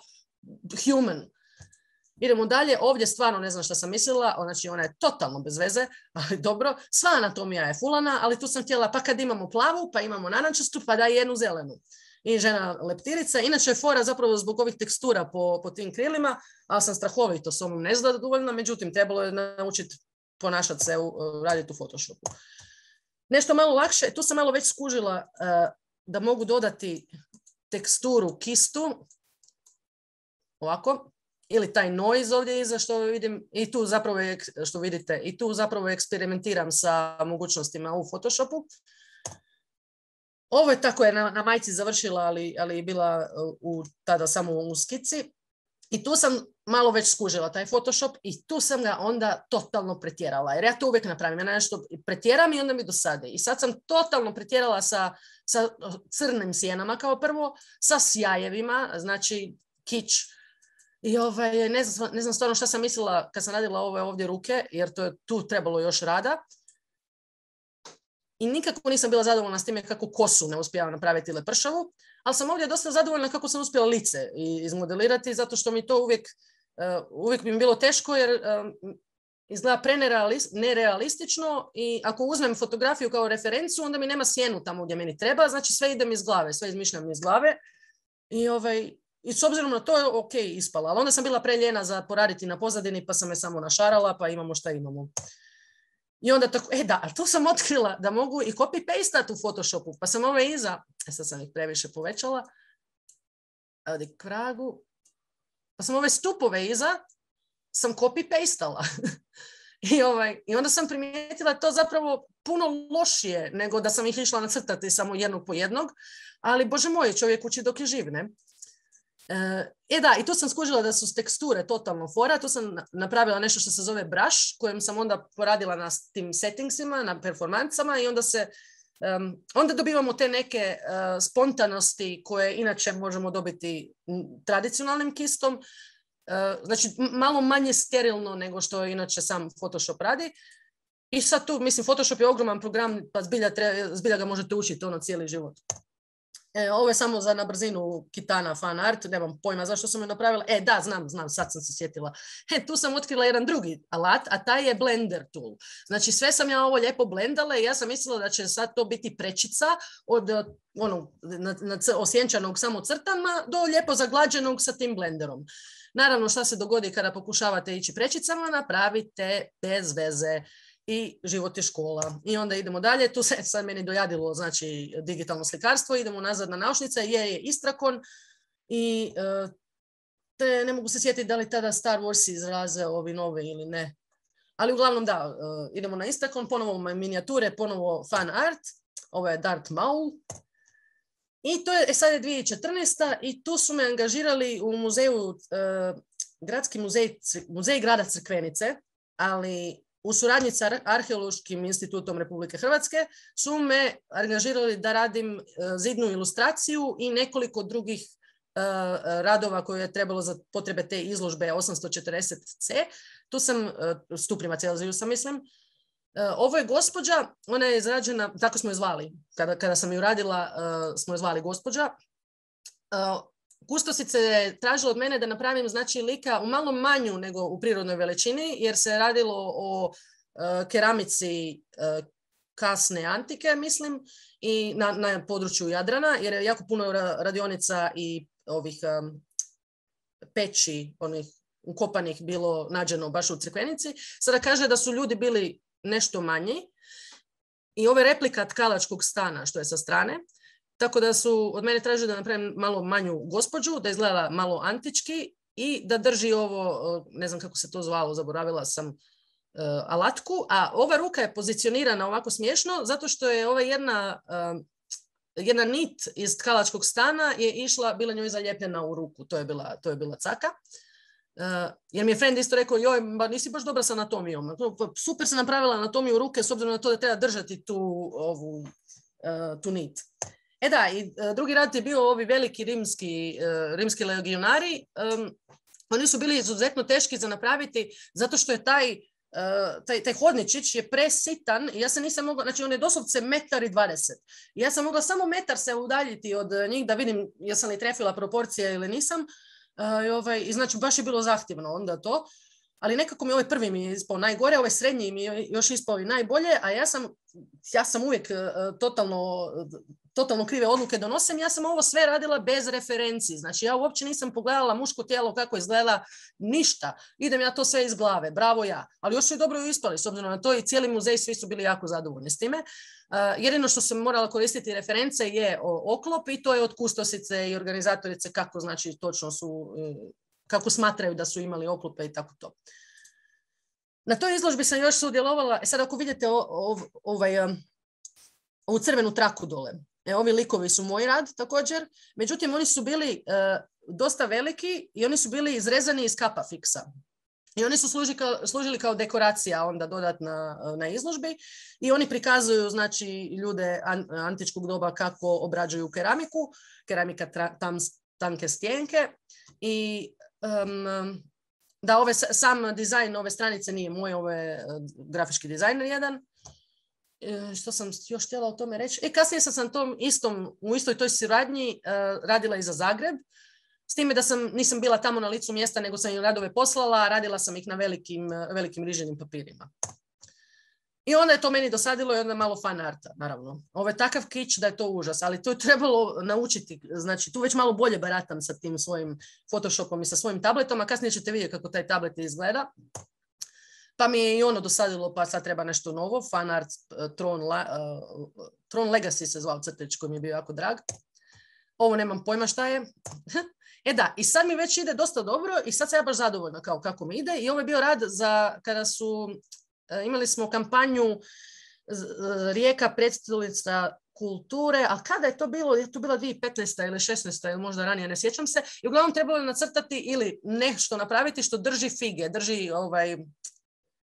B: human. Idemo dalje, ovdje stvarno ne znam šta sam mislila, znači ona je totalno bez veze, ali dobro, sva anatomija je fulana, ali tu sam htjela, pa kad imamo plavu, pa imamo narančastu, pa daj jednu zelenu. I žena leptirica, inače je fora zapravo zbog ovih tekstura po, po tim krilima, ali sam strahovito s ovom nezadovoljna, međutim trebalo je naučiti ponašati se, u, raditi u Photoshopu. Nešto malo lakše, tu sam malo već skužila uh, da mogu dodati teksturu kistu, ovako. ili taj noise ovdje iza što vidim, i tu zapravo je, što vidite, i tu zapravo eksperimentiram sa mogućnostima u Photoshopu. Ovo je tako je na, na majici završila, ali, ali je bila u, tada samo u skici. I tu sam malo već skužila taj Photoshop i tu sam ga onda totalno pretjerala. Jer ja to uvijek napravim. Ja nešto pretjeram i onda mi dosade. I sad sam totalno pretjerala sa, sa crnim sjenama kao prvo, sa sjajevima, znači kič. I ovaj, ne, znam, ne znam stvarno šta sam mislila kad sam radila ove ovdje ruke, jer to je tu trebalo još rada. I nikako nisam bila zadovoljna s time kako kosu ne uspijevam napraviti lepršavu, ali sam ovdje dosta zadovoljna kako sam uspjela lice izmodelirati, zato što mi to uvijek, uh, uvijek bi mi bilo teško, jer um, izgleda nerealistično i ako uzmem fotografiju kao referencu, onda mi nema sjenu tamo gdje meni treba, znači sve idem iz glave, sve izmišljam iz glave i, ovaj, i s obzirom na to je ok ispala, ali onda sam bila preljena za poraditi na pozadini, pa sam je samo našarala, pa imamo šta imamo. I onda tako, e da, ali tu sam otkrila da mogu i copy-pastat u Photoshopu, pa sam ove iza, e sad sam ih previše povećala, ovdje kragu, pa sam ove stupove iza, sam copy-pastala. I, ovaj, I onda sam primijetila to zapravo puno lošije nego da sam ih išla nacrtati samo jednog po jednog, ali bože moj, čovjek uči dok je živ, ne? E da, i tu sam skužila da su teksture totalno fora, tu sam napravila nešto što se zove brush, kojem sam onda poradila na tim settingsima, na performancama i onda se, um, onda dobivamo te neke uh, spontanosti koje inače možemo dobiti tradicionalnim kistom, uh, znači malo manje sterilno nego što inače sam Photoshop radi. I sad tu, mislim, Photoshop je ogroman program, pa zbilja, treba, zbilja ga možete učiti ono cijeli život. E, ovo je samo za na brzinu Kitana fan art, nemam pojma zašto sam je napravila. E, da, znam, znam, sad sam se sjetila. E, tu sam otkrila jedan drugi alat, a taj je Blender tool. Znači, sve sam ja ovo lijepo blendala i ja sam mislila da će sad to biti prečica od ono, na, na, osjenčanog samo crtama do lijepo zaglađenog sa tim blenderom. Naravno, šta se dogodi kada pokušavate ići prečicama, napravite bez veze. I život je škola. I onda idemo dalje. Tu se sad meni dojadilo, znači, digitalno slikarstvo. Idemo nazad na naušnice. Je, je Istrakon. I uh, te ne mogu se sjetiti da li tada Star Wars izraze ovi novi ili ne. Ali uglavnom da, uh, idemo na Istrakon. Ponovo minijature, ponovo fan art. Ovo je Darth Maul. I to je, e, sad je dvije tisuće četrnaesta. I tu su me angažirali u muzeju, uh, gradski muzej, muzej grada Crkvenice, ali u suradnji sa Arheološkim institutom Republike Hrvatske su me angažirali da radim zidnu ilustraciju i nekoliko drugih uh, radova koje je trebalo za potrebe te izložbe osamsto četrdeset ce. Tu sam, uh, Stuprima Celzijusa mislim. Uh, ovo je gospođa, ona je izrađena, tako smo je zvali, kada, kada sam ju radila uh, smo je zvali gospođa. Uh, Kustosice je tražila od mene da napravim znači lika u malo manju nego u prirodnoj veličini, jer se radilo o uh, keramici uh, kasne antike, mislim, i na, na području Jadrana, jer je jako puno radionica i ovih um, peći, onih ukopanih bilo nađeno baš u Crkvenici. Sada kaže da su ljudi bili nešto manji i ovo je replika tkalačkog stana što je sa strane. Tako da su od mene tražili da napravim malo manju gospođu, da izgleda malo antički i da drži ovo, ne znam kako se to zvalo, zaboravila sam, uh, alatku. A ova ruka je pozicionirana ovako smiješno zato što je ova jedna, uh, jedna nit iz tkalačkog stana je išla, bila njoj zalijepljena u ruku. To je bila, to je bila caka. Uh, jer mi je friend isto rekao, joj, ba, nisi baš dobra s anatomijom. Super sam napravila anatomiju ruke s obzirom na to da treba držati tu, ovu, uh, tu nit. E da, i uh, drugi rad je bio ovi veliki rimski, uh, rimski legionari. Um, oni su bili izuzetno teški za napraviti zato što je taj, uh, taj, taj hodničić je presitan i ja se nisam mogla, znači on je doslovce metar i dvadeset. I ja sam mogla samo metar se udaljiti od njih da vidim jesam li trefila proporcije ili nisam. Uh, i, ovaj, i znači baš je bilo zahtjevno onda to. Ali nekako mi ovaj prvi mi je ispao najgore, ovaj srednji mi je još ispao i najbolje, a ja sam, ja sam uvijek uh, totalno... totalno krive odluke donosim, ja sam ovo sve radila bez referenci. Znači, ja uopće nisam pogledala muško tijelo kako izgleda, ništa. Idem ja to sve iz glave, bravo ja. Ali još su i dobro ispali, s obzirom na to i cijeli muzej, svi su bili jako zadovoljni s time. Uh, jedino što sam morala koristiti reference je o, oklop i to je od kustosice i organizatorice kako, znači, točno su, kako smatraju da su imali oklupe i tako to. Na toj izložbi sam još sudjelovala, e sad ako vidite o, o, ovaj, ovu crvenu traku dole, e, ovi likovi su moj rad također, međutim oni su bili e, dosta veliki i oni su bili izrezani iz kapa fiksa. I oni su služili kao, služili kao dekoracija onda dodatna na izložbi i oni prikazuju znači ljude an, antičkog doba kako obrađuju keramiku, keramika tra, tam, tanke stjenke i um, da ove, sam dizajn ove stranice nije moj, ovo je grafički dizajner jedan. E, što sam još htjela o tome reći? E, kasnije sam sam tom istom, u istoj toj suradnji uh, radila i za Zagreb. S time da sam, nisam bila tamo na licu mjesta, nego sam im radove poslala, radila sam ih na velikim, velikim riženim papirima. I onda je to meni dosadilo i onda malo fan arta, naravno. Ovo je takav kič da je to užas, ali to je trebalo naučiti. Znači, tu već malo bolje baratam sa tim svojim Photoshopom i sa svojim tabletom, a kasnije ćete vidjeti kako taj tablet izgleda. Pa mi je i ono dosadilo, pa sad treba nešto novo. Fan art Tron, uh, Tron Legacy se zvao crtić koji mi je bio jako drag. Ovo nemam pojma šta je. E da, i sad mi već ide dosta dobro i sad sam ja baš zadovoljna kao kako mi ide. I ovo je bio rad za kada su, imali smo kampanju Rijeka predstavnica kulture, a kada je to bilo? Je to bila dvije tisuće petnaesta ili šesnaesta ili možda ranije, ne sjećam se. I uglavnom trebalo je nacrtati ili nešto napraviti što drži fige, drži ovaj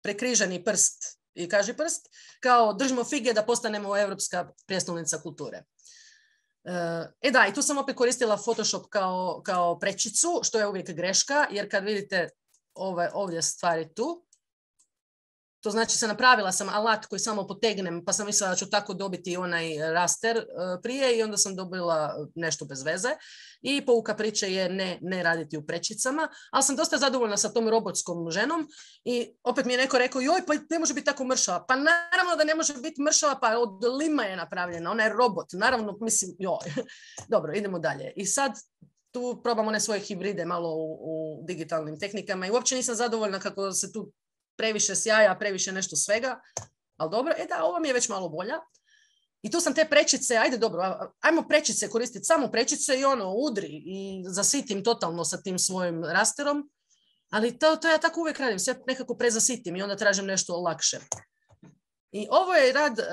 B: prekriženi prst i kaži prst, kao držimo fige da postanemo europska prijestolnica kulture. E da, i tu sam opet koristila Photoshop kao, kao prečicu, što je uvijek greška, jer kad vidite ove, ovdje stvari tu, to znači se napravila sam alat koji samo potegnem, pa sam mislila da ću tako dobiti onaj raster prije i onda sam dobila nešto bez veze. I pouka priče je ne, ne raditi u prečicama, ali sam dosta zadovoljna sa tom robotskom ženom i opet mi je neko rekao, joj, pa ne može biti tako mršava. Pa naravno da ne može biti mršava, pa od lima je napravljena, ona je robot, naravno, mislim, joj. Dobro, idemo dalje. I sad tu probam one svoje hibride malo u, u digitalnim tehnikama i uopće nisam zadovoljna kako se tu previše sjaja, previše nešto svega, ali dobro, e da, ovo mi je već malo bolja. I tu sam te prečice, ajde dobro, ajmo prečice koristiti, samo prečice i ono, udri i zasitim totalno sa tim svojim rasterom, ali to, to ja tako uvijek radim, sve nekako prezasitim i onda tražim nešto lakše. I ovo je rad, uh,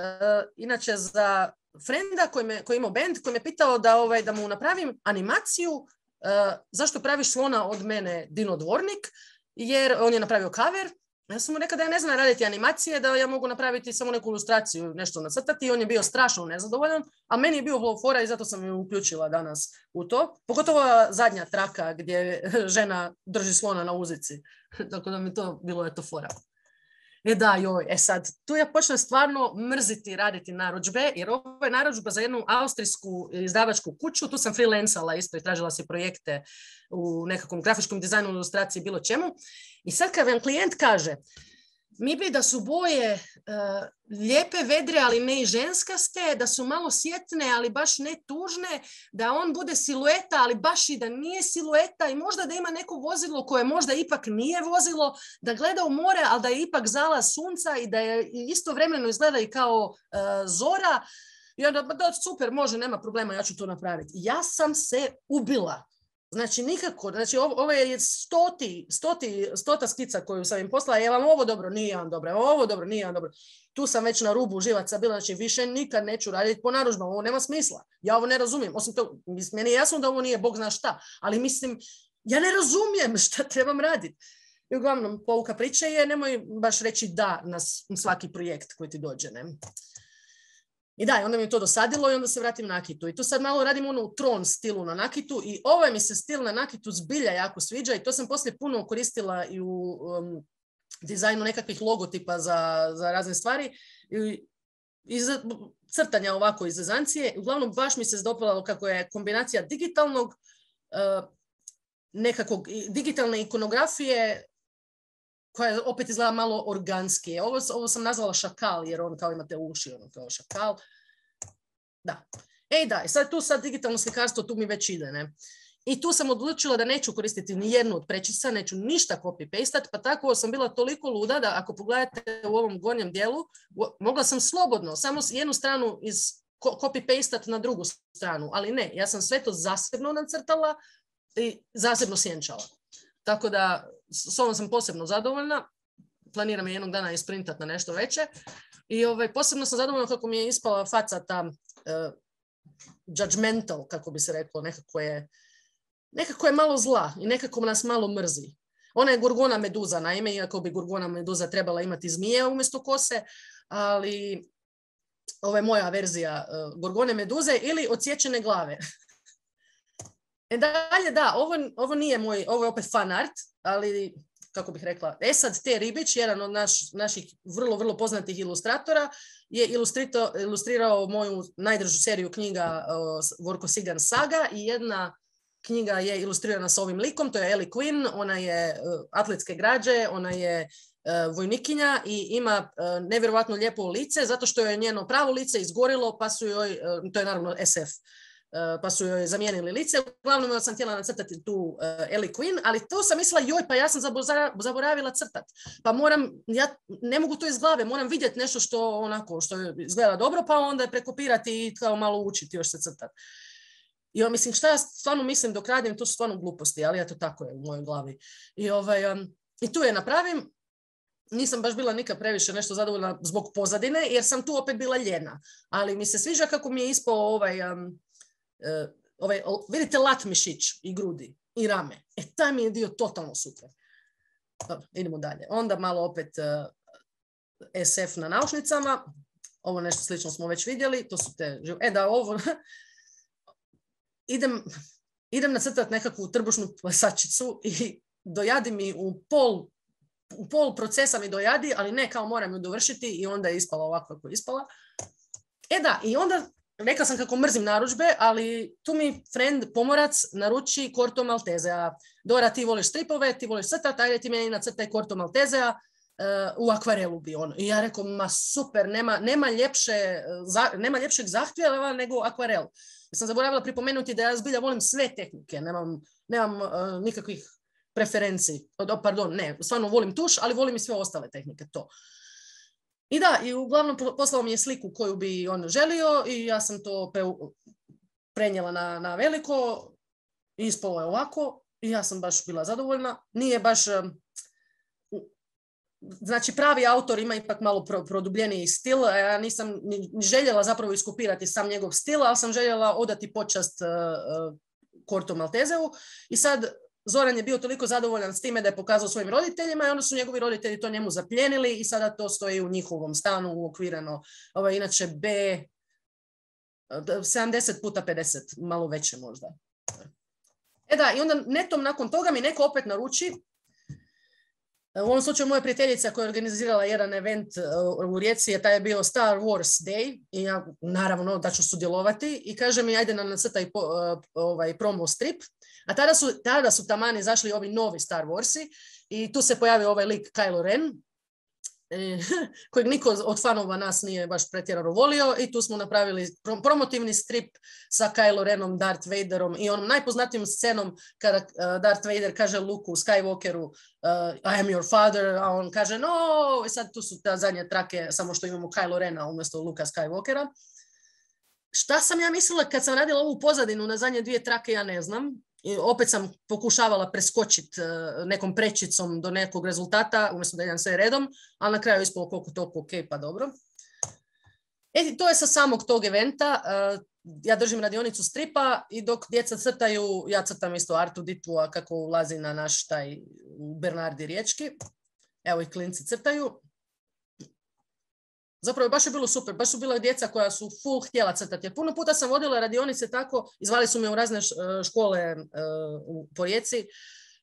B: inače, za frenda koji, me, koji imao band, koji me pitao da, ovaj, da mu napravim animaciju uh, zašto praviš slona od mene Dino Dvornik, jer on je napravio cover. Ja sam mu rekao da ja ne znam raditi animacije, da ja mogu napraviti samo neku ilustraciju, nešto nacrtati i on je bio strašno nezadovoljan, a meni je bio fora i zato sam ju uključila danas u to. Pogotovo zadnja traka gdje žena drži slona na uzici. Tako da mi to bilo je to fora. E da, joj, e sad, tu ja počnem stvarno mrziti raditi narudžbe, jer ovo je narudžba za jednu austrijsku izdavačku kuću, tu sam freelancala isto i tražila si projekte u nekakvom grafičkom dizajnu, ilustraciji, bilo čemu. I sad kad vam klijent kaže, mi bi da su boje uh, lijepe, vedre, ali ne i ženskaste, da su malo sjetne, ali baš ne tužne, da on bude silueta, ali baš i da nije silueta i možda da ima neko vozilo koje možda ipak nije vozilo, da gleda u more, ali da je ipak zalaz sunca i da je istovremeno izgleda i kao uh, zora. I onda, da, super, može, nema problema, ja ću to napraviti. Ja sam se ubila. Znači, nikako, znači, ovo, ovo je stoti, stoti, stota skica koju sam im poslala, je vam ovo dobro, nije vam dobro, ovo dobro, nije vam dobro. Tu sam već na rubu živaca bila, znači, više nikad neću raditi po narudžbama, ovo nema smisla. Ja ovo ne razumijem, osim to, meni je jasno da ovo nije Bog zna šta, ali mislim, ja ne razumijem šta trebam raditi. I uglavnom, pouka priče je, nemoj baš reći da na svaki projekt koji ti dođe, ne? I da, onda mi je to dosadilo i onda se vratim na nakitu. I tu sad malo radim ono u Tron stilu na nakitu i ovaj mi se stil na nakitu zbilja jako sviđa i to sam poslije puno koristila i u um, dizajnu nekakvih logotipa za, za razne stvari i, i za crtanja ovako iz zezancije. Uglavnom baš mi se zdopalo kako je kombinacija digitalnog, uh, nekakvog digitalne ikonografije koja opet izgleda malo organskije. Ovo, ovo sam nazvala šakal, jer on kao imate uši, ono kao šakal. Da. Ej da, sad tu sad digitalno slikarstvo, tu mi već ide, ne? I tu sam odlučila da neću koristiti ni jednu od prečica, neću ništa copy-pastat, pa tako sam bila toliko luda da ako pogledate u ovom gornjem dijelu, mogla sam slobodno, samo jednu stranu iz copy-pastat na drugu stranu, ali ne, ja sam sve to zasebno nacrtala i zasebno sjenčala. Tako da s ovom sam posebno zadovoljna. Planiram je jednog dana isprintati na nešto veće. I ovaj, posebno sam zadovoljna kako mi je ispala faca ta uh, judgmental, kako bi se reklo, nekako je, nekako je malo zla i nekako nas malo mrzi. Ona je Gorgona Meduza, naime, iako bi Gorgona Meduza trebala imati zmije umjesto kose, ali ovo je moja verzija uh, Gorgone Meduze ili odsječene glave. E dalje, da, ovo, ovo nije moj, ovo je opet fan art, ali kako bih rekla, Esad T. Ribić, jedan od naš, naših vrlo, vrlo poznatih ilustratora, je ilustrirao moju najdržu seriju knjiga uh, Vorko Sigan Saga i jedna knjiga je ilustrirana s ovim likom, to je Ellie Quinn, ona je uh, atletske građe, ona je uh, vojnikinja i ima uh, nevjerovatno lijepo lice, zato što je njeno pravo lice izgorilo, pa su joj, uh, to je naravno S F, Uh, pa su joj zamijenili lice. Uglavnom ja sam htjela nacrtati tu uh, Ellie Quinn, ali to sam mislila, joj, pa ja sam zaboravila crtat. Pa moram, ja ne mogu to iz glave, moram vidjeti nešto što onako, što izgleda dobro, pa onda prekopirati i kao malo učiti još se crtat. I ja mislim, šta ja stvarno mislim dok radim, to su stvarno gluposti, ali eto tako je u mojoj glavi. I, ovaj, um, i tu je napravim. Nisam baš bila nikad previše nešto zadovoljna zbog pozadine, jer sam tu opet bila ljena. Ali mi se sviđa kako mi je ispao ovaj... Um, Uh, ovaj, vidite lat mišić i grudi i rame. E, taj mi je dio totalno super. Dobro, idemo dalje. Onda malo opet uh, S F na naušnicama. Ovo nešto slično smo već vidjeli. To su te... E da, ovo... idem, idem nacrtati nekakvu trbušnu plesačicu i dojadi mi u pol, u pol procesa mi dojadi, ali ne kao moram ju dovršiti i onda je ispala ovako kako je ispala. E da, i onda rekla sam kako mrzim narudžbe, ali tu mi friend pomorac naruči Corto Maltesea. Dora, ti voliš stripove, ti voliš crtati, ajde ti meni nacrtaj Corto Maltesea uh, u akvarelu bi on. I ja rekao, ma super, nema, nema, ljepše, za, nema ljepšeg zahtjeva nego akvarel. Ja sam zaboravila pripomenuti da ja zbilja volim sve tehnike, nemam, nemam uh, nikakvih preferencij. Pardon, ne, stvarno volim tuš, ali volim i sve ostale tehnike, to. I da, i uglavnom poslao mi je sliku koju bi on želio i ja sam to prenijela na, na veliko i ispalo je ovako i ja sam baš bila zadovoljna. Nije baš, znači pravi autor ima ipak malo pro, produbljeniji stil, ja nisam ni željela zapravo iskopirati sam njegov stil, ali sam željela odati počast uh, Corto Malteseu i sad Zoran je bio toliko zadovoljan s time da je pokazao svojim roditeljima i onda su njegovi roditelji to njemu zapljenili i sada to stoji u njihovom stanu uokvirano. Ovo je inače B sedamdeset puta pedeset, malo veće možda. E da, i onda netom nakon toga mi neko opet naruči. U ovom slučaju moja prijateljica koja je organizirala jedan event u Rijeci, taj je bio Star Wars Day i ja naravno da ću sudjelovati i kaže mi ajde nam nacrtaj ovaj promo strip. A tada su, tada su taman izašli ovi novi Star Warsi i tu se pojavio ovaj lik Kylo Ren, e, kojeg niko od fanova nas nije baš pretjerano volio i tu smo napravili promotivni strip sa Kylo Renom, Darth Vaderom i onom najpoznatijom scenom kada uh, Darth Vader kaže Luku Skywalkeru uh, I am your father, a on kaže no, i sad tu su ta zadnje trake, samo što imamo Kylo Rena umjesto Luka Skywalkera. Šta sam ja mislila kad sam radila ovu pozadinu na zadnje dvije trake, ja ne znam. I opet sam pokušavala preskočiti uh, nekom prečicom do nekog rezultata, umjesto da idem sve redom, ali na kraju ispalo koliko toliko ok, pa dobro. E, to je sa samog tog eventa. Uh, ja držim radionicu stripa i dok djeca crtaju, ja crtam isto Artu Ditua kako ulazi na naš taj Bernardi riječki. Evo i klinci crtaju. Zapravo baš je bilo super, baš su bila djeca koja su full htjela crtati. Jer puno puta sam vodila radionice tako, izvali su me u razne škole uh, po Rijeci,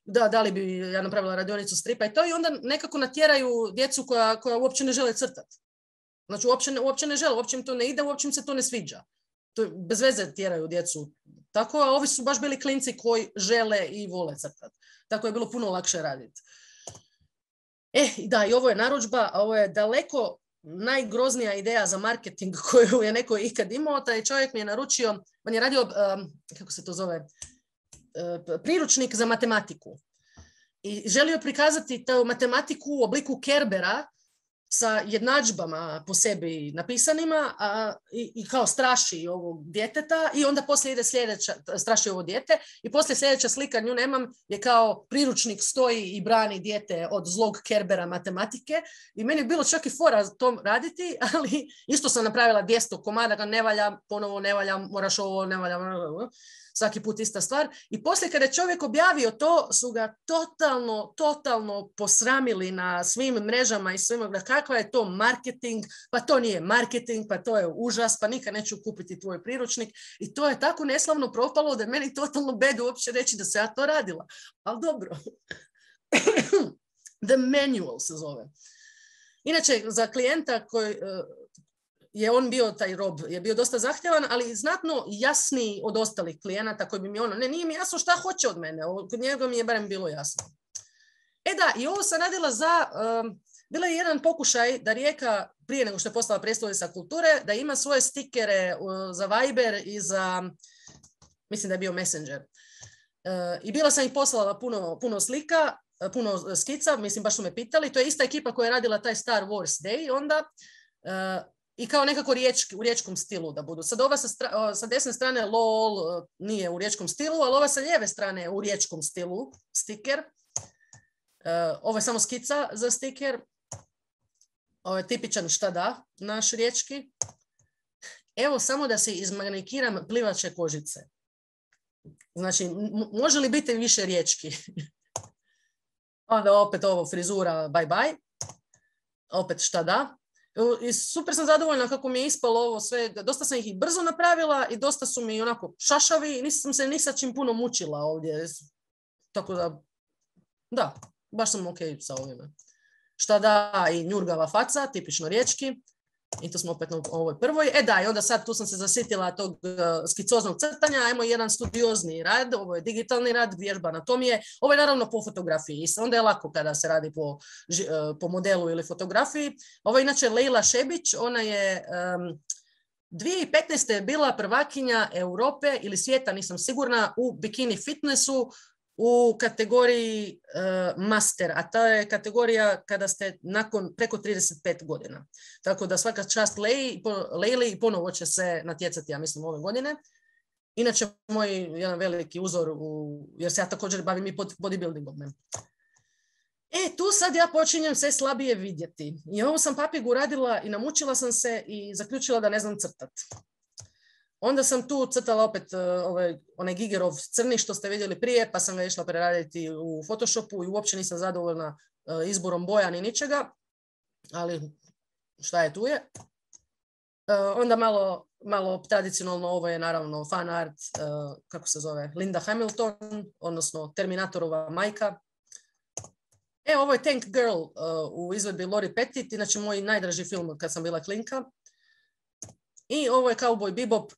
B: da, da li bi ja napravila radionicu stripa i to i onda nekako natjeraju djecu koja, koja uopće ne žele crtati. Znači uopće ne, uopće ne žele, uopće im to ne ide, uopće im se to ne sviđa. To bez veze tjeraju djecu. Tako, a ovi su baš bili klinci koji žele i vole crtati. Tako je bilo puno lakše raditi. E, da, i ovo je narudžba, a ovo je daleko najgroznija ideja za marketing koju je neko ikad imao. Taj čovjek mi je naručio, on je radio, um, kako se to zove, uh, priručnik za matematiku. I želio prikazati tu matematiku u obliku Kerbera sa jednadžbama po sebi napisanima a, i, i kao straši ovog djeteta i onda poslije ide sljedeća, straši ovo dijete i poslije sljedeća slika, nju nemam, je kao priručnik stoji i brani dijete od zlog Kerbera matematike i meni je bilo čak i fora to raditi, ali isto sam napravila dvjesto komada, ga ne valja, ponovo ne valja, moraš ovo, ne valja, svaki put ista stvar. I poslije kada je čovjek objavio to, su ga totalno, totalno posramili na svim mrežama i svima, da kakva je to marketing, pa to nije marketing, pa to je užas, pa nikad neću kupiti tvoj priručnik. I to je tako neslavno propalo da je meni totalno bedu uopće reći da se ja to radila. Ali dobro. The Manual se zove. Inače, za klijenta koji... je on bio, taj Rob, je bio dosta zahtjevan, ali znatno jasniji od ostalih klijenata koji bi mi ono, ne, nije mi jasno šta hoće od mene, kod njega mi je barem bilo jasno. E da, i ovo sam radila za, um, bila je jedan pokušaj da Rijeka, prije nego što je postala prijestolnica kulture, da ima svoje stikere uh, za Viber i za, mislim da je bio Messenger. Uh, I bila sam ih poslala puno, puno slika, uh, puno skica, mislim baš su me pitali, to je ista ekipa koja je radila taj Star Wars Day, onda... Uh, I kao nekako riječki, u riječkom stilu da budu. Sad ova sa, stra, sa desne strane lol nije u riječkom stilu, ali ova sa lijeve strane je u riječkom stilu, stiker. Uh, ovo je samo skica za stiker. Ovo je tipičan šta da, naš riječki. Evo samo da se izmanikiram plivače kožice. Znači, može li biti više riječki? Onda opet ovo frizura bye bye. Opet šta da. I super sam zadovoljna kako mi je ispalo ovo sve, dosta sam ih i brzo napravila i dosta su mi onako šašavi i nisam se ni sa čim puno mučila ovdje, tako da, da, baš sam ok sa ovime. Šta da, i njurgava faca, tipično riječki, i to smo opet na ovoj prvoj. E da, i onda sad tu sam se zasitila tog uh, skicoznog crtanja, ajmo jedan studiozni rad, ovo je digitalni rad, vježba anatomije, ovo je naravno po fotografiji, onda je lako kada se radi po, uh, po modelu ili fotografiji. Ovo je inače Lejla Šebić, ona je um, dvije tisuće petnaeste je bila prvakinja Europe ili svijeta, nisam sigurna, u bikini fitnessu, u kategoriji uh, master, a ta je kategorija kada ste nakon preko trideset pet godina. Tako da svaka čast Lejli, Lejli i ponovo će se natjecati, ja mislim, ove godine. Inače, moj jedan veliki uzor, u, jer se ja također bavim i bodybuildingom. E, tu sad ja počinjem sve slabije vidjeti. I ovo sam papigu radila i namučila sam se i zaključila da ne znam crtati. Onda sam tu crtala opet uh, ovaj, onaj Gigerov crni što ste vidjeli prije, pa sam ga išla preraditi u Photoshopu i uopće nisam zadovoljna uh, izborom boja ni ničega, ali šta je tu je. Uh, onda malo, malo tradicionalno ovo je naravno fan art, uh, kako se zove, Linda Hamilton, odnosno Terminatorova majka. E, ovo je Tank Girl uh, u izvedbi Lori Pettit, inače moj najdraži film kad sam bila klinka. I ovo je Cowboy Bebop.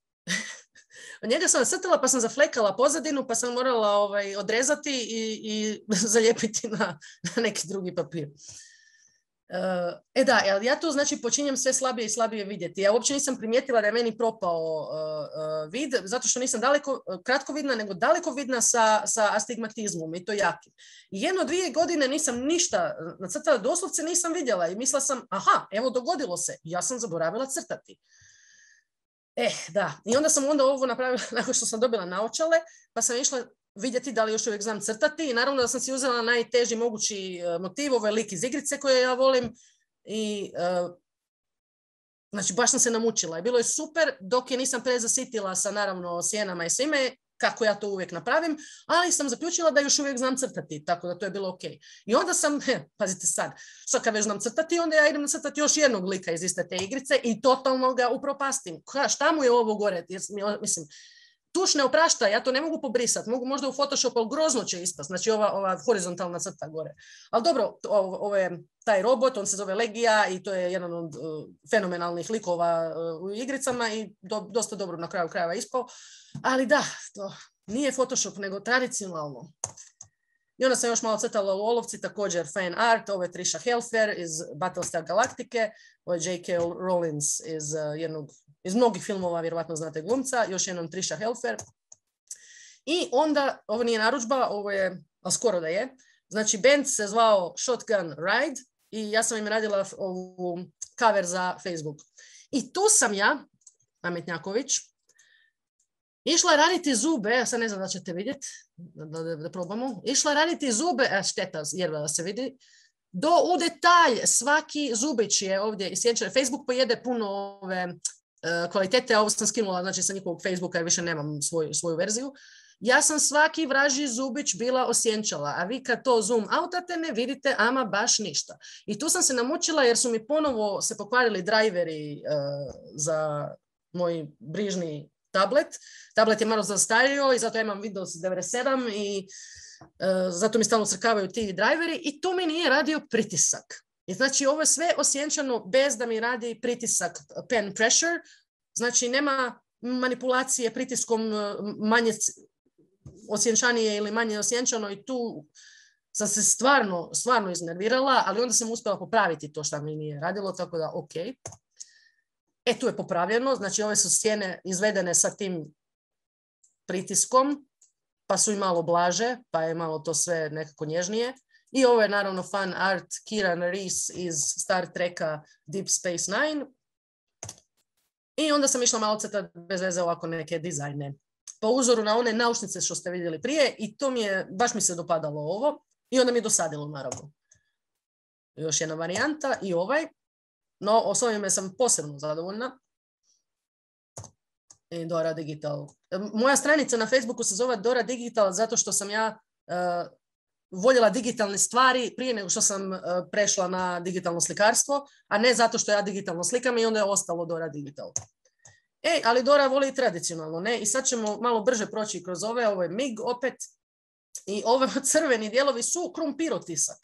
B: Od njega sam crtala pa sam zaflekala pozadinu pa sam morala ovaj, odrezati i, i zalijepiti na, na neki drugi papir. Uh, e da, ja tu znači počinjem sve slabije i slabije vidjeti. Ja uopće nisam primijetila da je meni propao uh, uh, vid, zato što nisam daleko, uh, kratko vidna, nego daleko vidna sa, sa astigmatizmom i to jakim. I jedno dvije godine nisam ništa nacrtala, doslovce nisam vidjela i mislila sam, aha, evo dogodilo se, ja sam zaboravila crtati. Eh, da. I onda sam onda ovo napravila nakon što sam dobila naočale, pa sam išla vidjeti da li još uvijek znam crtati i naravno da sam si uzela najteži mogući motiv, ovo je lik iz igrice koje ja volim i uh, znači baš sam se namučila i bilo je super dok je nisam prezasitila sa naravno sjenama i svime, kako ja to uvijek napravim, ali sam zaključila da još uvijek znam crtati, tako da to je bilo ok. I onda sam, he, pazite sad, što kad već znam crtati, onda ja idem crtati još jednog lika iz iste te igrice i totalno ga upropastim. Ka, šta mu je ovo gore? Jer, mislim, tuš ne oprašta, ja to ne mogu pobrisati, mogu možda u Photoshopu, ali grozno će ispast, znači ova, ova horizontalna crta gore. Ali dobro, ovo, ovo je taj robot, on se zove Legija i to je jedan od uh, fenomenalnih likova uh, u igricama i do, dosta dobro na kraju krajeva ispao. Ali da, to nije Photoshop, nego tradicionalno. I onda sam još malo crtala u olovci, također fan art, ovo je Trisha Helfer iz Battlestar Galaktike, ovo je J K. Rowling iz, uh, jednog, iz mnogih filmova, vjerovatno znate glumca, još jednom Trisha Helfer. I onda, ovo nije narudžba, ovo je, ali skoro da je, znači band se zvao Shotgun Ride i ja sam im radila ovu cover za Facebook. I tu sam ja, Ametnjaković, išla raditi zube, sad ne znam da ćete vidjeti, da, da, da probamo, išla raditi zube, a šteta, jedva da se vidi, do u detalj, svaki zubić je ovdje isječen. Facebook pojede puno ove uh, kvalitete, a ovo sam skinula, znači sa njihovog Facebooka jer više nemam svoju, svoju verziju. Ja sam svaki vražji zubić bila osjenčala, a vi kad to zoom outate ne vidite ama baš ništa. I tu sam se namučila jer su mi ponovo se pokvarili driveri uh, za moj brižni tablet. Tablet je malo zastario i zato ja imam Windows devedeset sedam i uh, zato mi stalno crkavaju ti driveri i tu mi nije radio pritisak. I znači ovo je sve osjenčano bez da mi radi pritisak pen pressure, znači nema manipulacije pritiskom manje osjenčanije ili manje osjenčano i tu sam se stvarno, stvarno iznervirala, ali onda sam uspjela popraviti to što mi nije radilo, tako da ok. E, tu je popravljeno, znači ove su sjene izvedene sa tim pritiskom, pa su i malo blaže, pa je malo to sve nekako nježnije. I ovo je naravno fan art Kieran Rees iz Star Treka Deep Space Nine. I onda sam išla malo crtati bez veze ovako neke dizajne. Po uzoru na one naušnice što ste vidjeli prije i to mi je, baš mi se dopadalo ovo i onda mi je dosadilo naravno. Još jedna varijanta i ovaj. No, s ovime sam posebno zadovoljna. I Dora Digital. Moja stranica na Facebooku se zove Dora Digital zato što sam ja uh, voljela digitalne stvari prije nego što sam uh, prešla na digitalno slikarstvo, a ne zato što ja digitalno slikam i onda je ostalo Dora Digital. E, ali Dora voli tradicionalno, ne? I sad ćemo malo brže proći kroz ove. Ovo je M I G opet. I ove crveni dijelovi su krumpirotisak.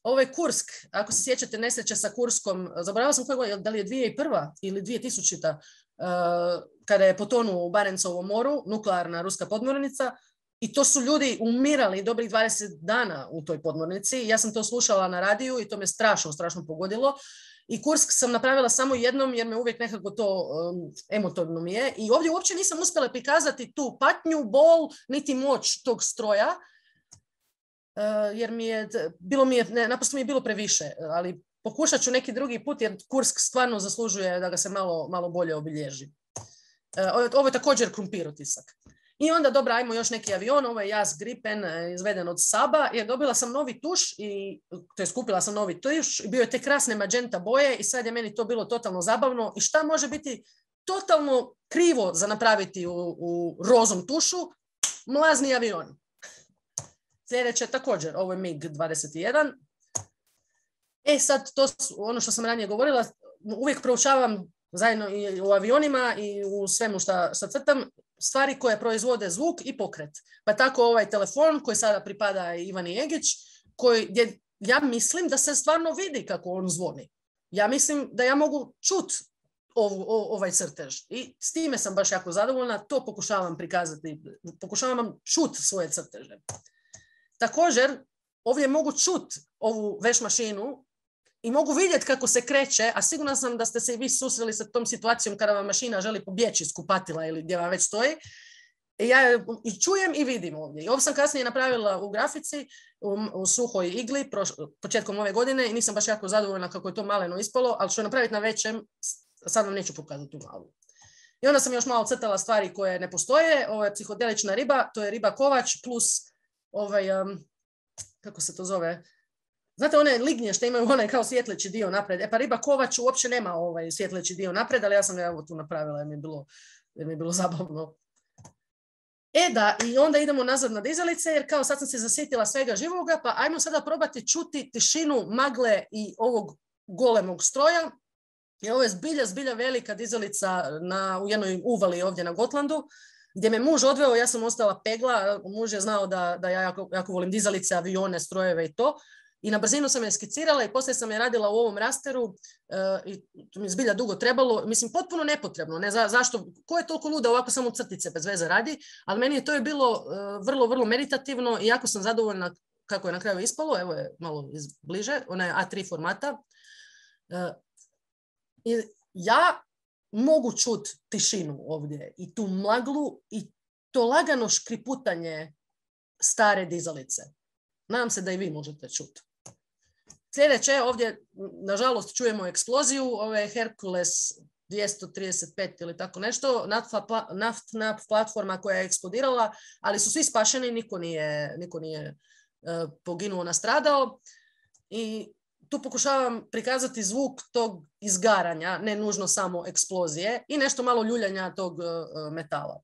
B: Ovo je Kursk. Ako se sjećate nesreće sa Kurskom, zaboravila sam koje, da li je dvije tisuće prva ili dvije tisućita, uh, kada je potonuo u Barencovom moru, nuklearna ruska podmornica. I to su ljudi umirali dobrih dvadeset dana u toj podmornici. Ja sam to slušala na radiju i to me strašno, strašno pogodilo. I Kursk sam napravila samo jednom jer me uvijek nekako to um, emotivno mi je. I ovdje uopće nisam uspjela prikazati tu patnju, bol, niti moć tog stroja. Uh, jer mi je, bilo mi je, ne, naprosto mi je bilo previše. Ali pokušat ću neki drugi put jer Kursk stvarno zaslužuje da ga se malo, malo bolje obilježi. Uh, ovo je također krumpirotisak. I onda, dobro, ajmo još neki avion, ovo je Jas Gripen, izveden od Saba, jer dobila sam novi tuš, i, to je skupila sam novi tuš, bio je te krasne magenta boje i sad je meni to bilo totalno zabavno. I šta može biti totalno krivo za napraviti u, u rozom tušu? Mlazni avion. Sljedeće također, ovo je M I G dvadeset jedan. E sad, to ono što sam ranije govorila, uvijek proučavam zajedno i u avionima i u svemu što crtam, stvari koje proizvode zvuk i pokret. Pa tako ovaj telefon koji sada pripada Ivani Egić, koji, gdje ja mislim da se stvarno vidi kako on zvoni. Ja mislim da ja mogu čut ov, ovaj crtež. I s time sam baš jako zadovoljna. To pokušavam prikazati. Pokušavam čut svoje crteže. Također, ovdje mogu čut ovu veš mašinu i mogu vidjeti kako se kreće, a sigurna sam da ste se i vi susreli sa tom situacijom kada vam mašina želi pobjeći iz kupatila ili gdje vam već stoji. I ja i čujem i vidim ovdje. I ovo sam kasnije napravila u grafici, u, u suhoj igli, proš, početkom ove godine i nisam baš jako zadovoljna kako je to maleno ispalo, ali ću napraviti na većem, sad vam neću pokazati tu malu. I onda sam još malo crtala stvari koje ne postoje. Ovo je psihodelična riba, to je riba kovač plus ovaj, um, kako se to zove, znate one lignje što imaju onaj kao svjetleći dio napred. E pa riba kovač uopće nema ovaj svjetleći dio napred, ali ja sam ga evo tu napravila jer mi je bilo, jer mi je bilo zabavno. E da, i onda idemo nazad na dizalice jer kao sad sam se zasjetila svega živoga, pa ajmo sada probati čuti tišinu magle i ovog golemog stroja. I ovo je zbilja, zbilja velika dizalica na, u jednoj uvali ovdje na Gotlandu, gdje me muž odveo, ja sam ostala pegla, muž je znao da, da ja jako, jako volim dizalice, avione, strojeve i to. I na brzinu sam je skicirala i poslije sam je radila u ovom rasteru uh, i to mi je zbilja dugo trebalo. Mislim, potpuno nepotrebno. Ne, za, zašto? Ko je toliko luda ovako samo crtice bez veze radi? Ali meni je to je bilo uh, vrlo, vrlo meditativno i jako sam zadovoljna kako je na kraju ispalo. Evo je malo iz bliže. Ona je A tri formata. Uh, i ja mogu čut tišinu ovdje i tu maglu i to lagano škriputanje stare dizalice. Nadam se da i vi možete čuti. Sljedeće, ovdje nažalost čujemo eksploziju, ovo je Hercules dvjesto trideset pet ili tako nešto, naftna, naftna platforma koja je eksplodirala, ali su svi spašeni, niko nije, niko nije uh, poginuo, nastradao. I tu pokušavam prikazati zvuk tog izgaranja, ne nužno samo eksplozije, i nešto malo ljuljanja tog uh, metala.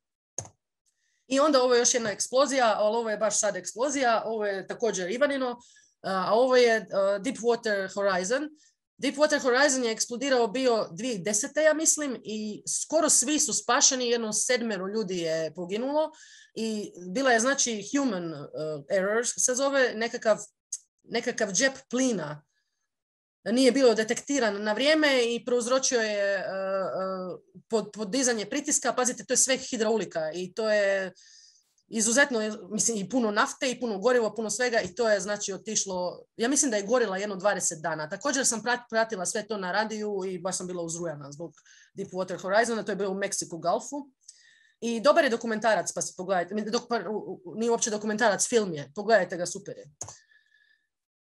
B: I onda ovo je još jedna eksplozija, ali ovo je baš sad eksplozija, ovo je također Ivanino, a ovo je uh, Deepwater Horizon. Deepwater Horizon je eksplodirao bio dvije tisuće desete. ja mislim, i skoro svi su spašeni, jedno sedmero ljudi je poginulo i bila je znači human uh, errors, se zove nekakav, nekakav džep plina. Nije bio detektiran na vrijeme i prouzročio je uh, uh, pod, podizanje pritiska. Pazite, to je sve hidraulika i to je izuzetno, mislim, i puno nafte i puno gorivo, puno svega, i to je znači otišlo, ja mislim da je gorila jedno dvadeset dana. Također sam pratila sve to na radiju i baš sam bila uzrujana zbog Deepwater Horizona, to je bilo u Mexico Gulfu. I dobar je dokumentarac, pa se pogledajte. Dok, pa, nije uopće dokumentarac, film je. Pogledajte ga, super je.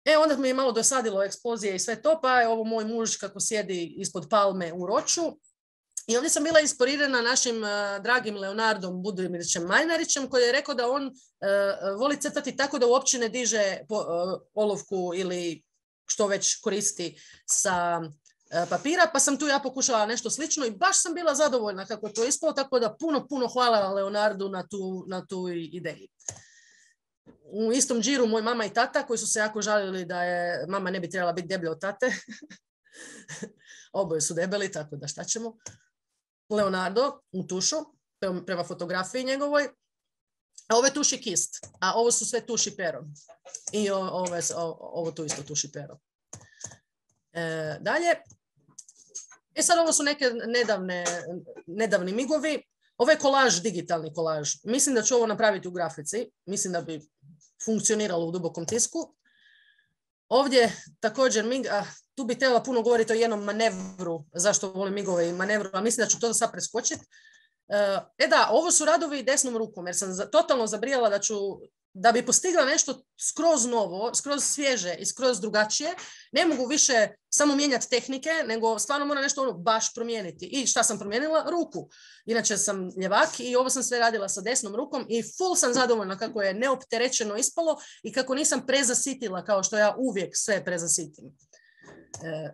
B: E, onda mi je malo dosadilo eksplozije i sve to, pa je ovo moj muž kako sjedi ispod palme u Roču. I ovdje sam bila inspirirana našim uh, dragim Leonardom Budimirićem Majnarićem, koji je rekao da on uh, voli crtati tako da uopće ne diže po, uh, olovku ili što već koristi sa uh, papira, pa sam tu ja pokušala nešto slično i baš sam bila zadovoljna kako to ispalo, tako da puno, puno hvala Leonardu na tu, na tu ideji. U istom džiru moj mama i tata, koji su se jako žalili da je mama ne bi trebala biti deblja od tate. Oboje su debeli, tako da šta ćemo. Leonardo u tušu, prema fotografiji njegovoj. A ovo je tuši kist, a ovo su sve tuši pero. I ovo, ovo, ovo tu isto tuši pero. E, dalje. E sad ovo su neke nedavne, nedavni migovi. Ovo je kolaž, digitalni kolaž. Mislim da ću ovo napraviti u grafici. Mislim da bi funkcioniralo u dubokom tisku. Ovdje također mig, a, tu bi trebala puno govoriti o jednom manevru, zašto volim migove i manevru, a mislim da ću to sad preskočiti. E da, ovo su radovi desnom rukom, jer sam za, totalno zabrijala da ću, da bi postigla nešto skroz novo, skroz svježe i skroz drugačije, ne mogu više samo mijenjati tehnike, nego stvarno moram nešto ono baš promijeniti. I šta sam promijenila? Ruku. Inače sam ljevak i ovo sam sve radila sa desnom rukom i full sam zadovoljna kako je neopterećeno ispalo i kako nisam prezasitila kao što ja uvijek sve prezasitim. E,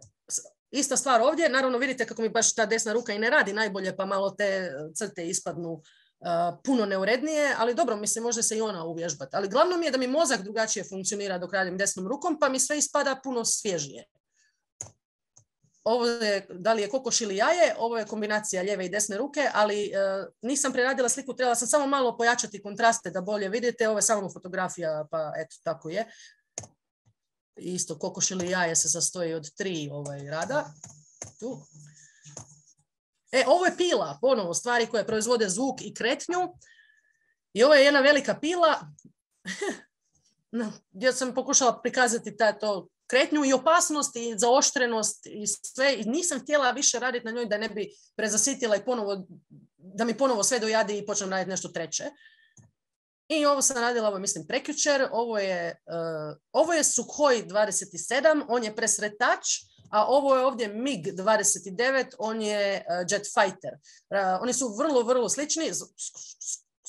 B: ista stvar ovdje, naravno vidite kako mi baš ta desna ruka i ne radi najbolje, pa malo te crte ispadnu Uh, puno neurednije, ali dobro, mislim, može se i ona uvježbati. Ali glavno mi je da mi mozak drugačije funkcionira dok radim desnom rukom, pa mi sve ispada puno svježije. Ovo je, da li je kokoš ili jaje, ovo je kombinacija lijeve i desne ruke, ali uh, nisam preradila sliku, trebala sam samo malo pojačati kontraste da bolje vidite. Ovo je samo fotografija, pa eto, tako je. Isto, kokoš ili jaje se sastoji od tri ovaj, rada. Tu. E, ovo je pila, ponovo, stvari koje proizvode zvuk i kretnju. I ovo je jedna velika pila gdje sam pokušala prikazati ta, to kretnju i opasnost i zaoštrenost i sve. I nisam htjela više raditi na njoj da ne bi prezasitila i ponovo, da mi ponovo sve dojadi i počnem raditi nešto treće. I ovo sam radila, ovo mislim, prekjučer. Ovo je, uh, ovo je Sukhoi dvadeset sedam, on je presretač. A ovo je ovdje mig dvadeset devet, on je uh, jet fighter. Uh, oni su vrlo, vrlo slični,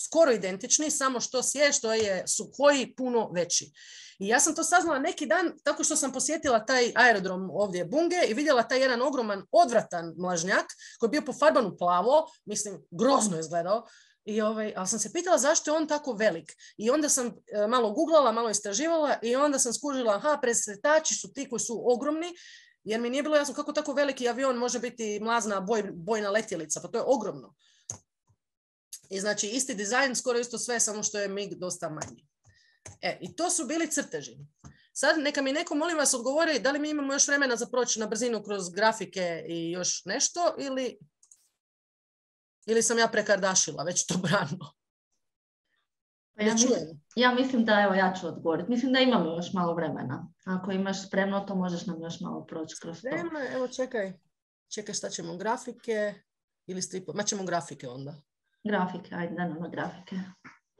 B: skoro identični, samo što je što je Sukhoi puno veći. I ja sam to saznala neki dan tako što sam posjetila taj aerodrom ovdje Bunge i vidjela taj jedan ogroman, odvratan mlažnjak koji je bio pofarban u plavo, mislim, grozno je izgledao. I ovaj, ali sam se pitala zašto je on tako velik. I onda sam uh, malo googlala, malo istraživala i onda sam skužila, aha, presretači su ti koji su ogromni. Jer mi nije bilo jasno kako tako veliki avion može biti mlazna boj, bojna letjelica, pa to je ogromno. I znači isti dizajn, skoro isto sve, samo što je mig dosta manji. E, i to su bili crteži. Sad neka mi neko, molim vas, odgovori da li mi imamo još vremena za proći na brzinu kroz grafike i još nešto, ili, ili sam ja prekardašila već to brano.
C: Ja, mislim, ja mislim da, evo, ja ću odgovoriti. Mislim da imamo još malo vremena. Ako imaš spremno, to možeš nam još malo proći kroz to.
B: Spremno, evo čekaj. Čekaj, šta ćemo, grafike ili stripo? Ma ćemo grafike onda.
C: Grafike, ajde, da nam na grafike.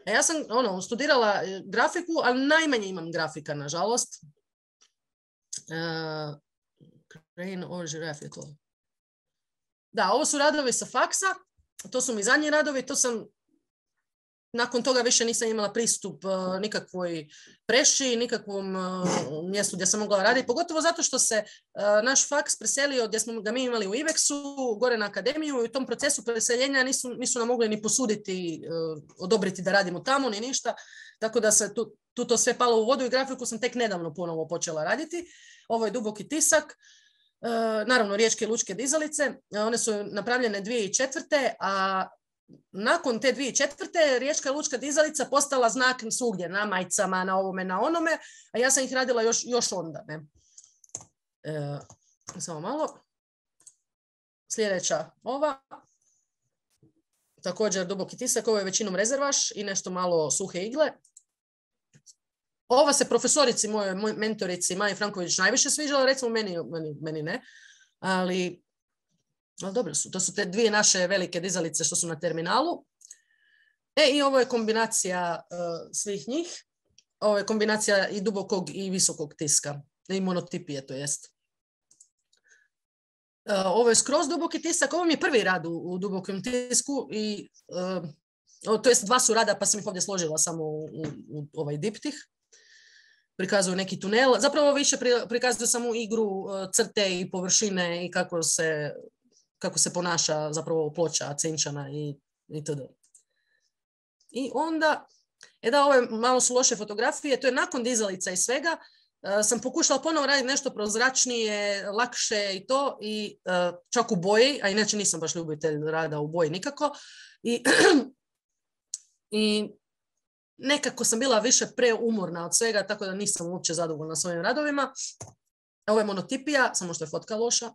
B: A ja sam ono, studirala grafiku, ali najmanje imam grafika, nažalost. Uh, Crane or Giraffe je to. Da, ovo su radovi sa faksa. To su mi zadnji radovi. To sam nakon toga više nisam imala pristup uh, nikakvoj preši, nikakvom uh, mjestu gdje sam mogla raditi, pogotovo zato što se uh, naš faks preselio gdje smo ga mi imali u Iveksu, gore na akademiju, i u tom procesu preseljenja nisu, nisu nam mogli ni posuditi, uh, odobriti da radimo tamo, ni ništa, tako da se tu, tu to sve palo u vodu i grafiku sam tek nedavno ponovo počela raditi. Ovo je duboki tisak. Uh, naravno, riječke lučke dizalice. Uh, one su napravljene dvije tisuće četvrte. a nakon te dvije tisuće četvrte. riječka lučka dizalica postala znak svugdje, na majicama, na ovome, na onome, a ja sam ih radila još, još onda. Ne? E, samo malo. Sljedeća ova. Također duboki tisak, ovo je većinom rezervaš i nešto malo suhe igle. Ova se profesorici, moje mentorici, Maji Franković, najviše sviđala, recimo meni, meni, meni ne, ali... Ali dobro su, to su te dvije naše velike dizalice što su na terminalu. E, i ovo je kombinacija uh, svih njih. Ovo je kombinacija i dubokog i visokog tiska. I monotipije, to jest. Uh, ovo je skroz duboki tisak. Ovo mi je prvi rad u, u dubokom tisku. I, uh, to jest dva su rada, pa sam ih ovdje složila samo u, u, u ovaj diptih. Prikazuju neki tunel. Zapravo više prikazuju samo igru uh, crte i površine i kako se... kako se ponaša zapravo ploča, cinčana i itd. I onda, e da, ove malo su loše fotografije, to je nakon dizalica i svega, uh, sam pokušala ponovo raditi nešto prozračnije, lakše i to, i uh, čak u boji, a inače nisam baš ljubitelj rada u boji nikako, i, i nekako sam bila više preumorna od svega, tako da nisam uopće zadovoljna svojim radovima. Ovo je monotipija, samo što je fotka loša.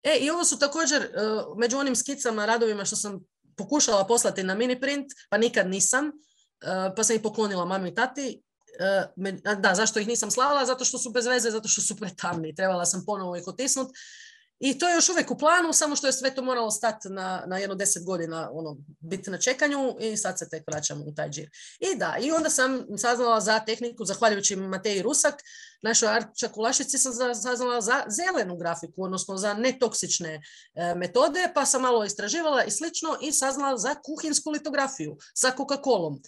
B: E, i ovo su također uh, među onim skicama, radovima što sam pokušala poslati na mini print, pa nikad nisam, uh, pa sam ih poklonila mami i tati. Uh, me, da, zašto ih nisam slala? Zato što su bez veze, zato što su pretamni. Trebala sam ponovo ih otisnuti. I to je još uvijek u planu, samo što je sve to moralo stati na, na jedno deset godina, ono, biti na čekanju, i sad se tek vraćamo u taj džir. I da, i onda sam saznala za tehniku, zahvaljujući Mateji Rusak, našoj Arčak u Lašici sam saznala za zelenu grafiku, odnosno za netoksične e, metode, pa sam malo istraživala i slično i saznala za kuhinsku litografiju sa Coca-Colom.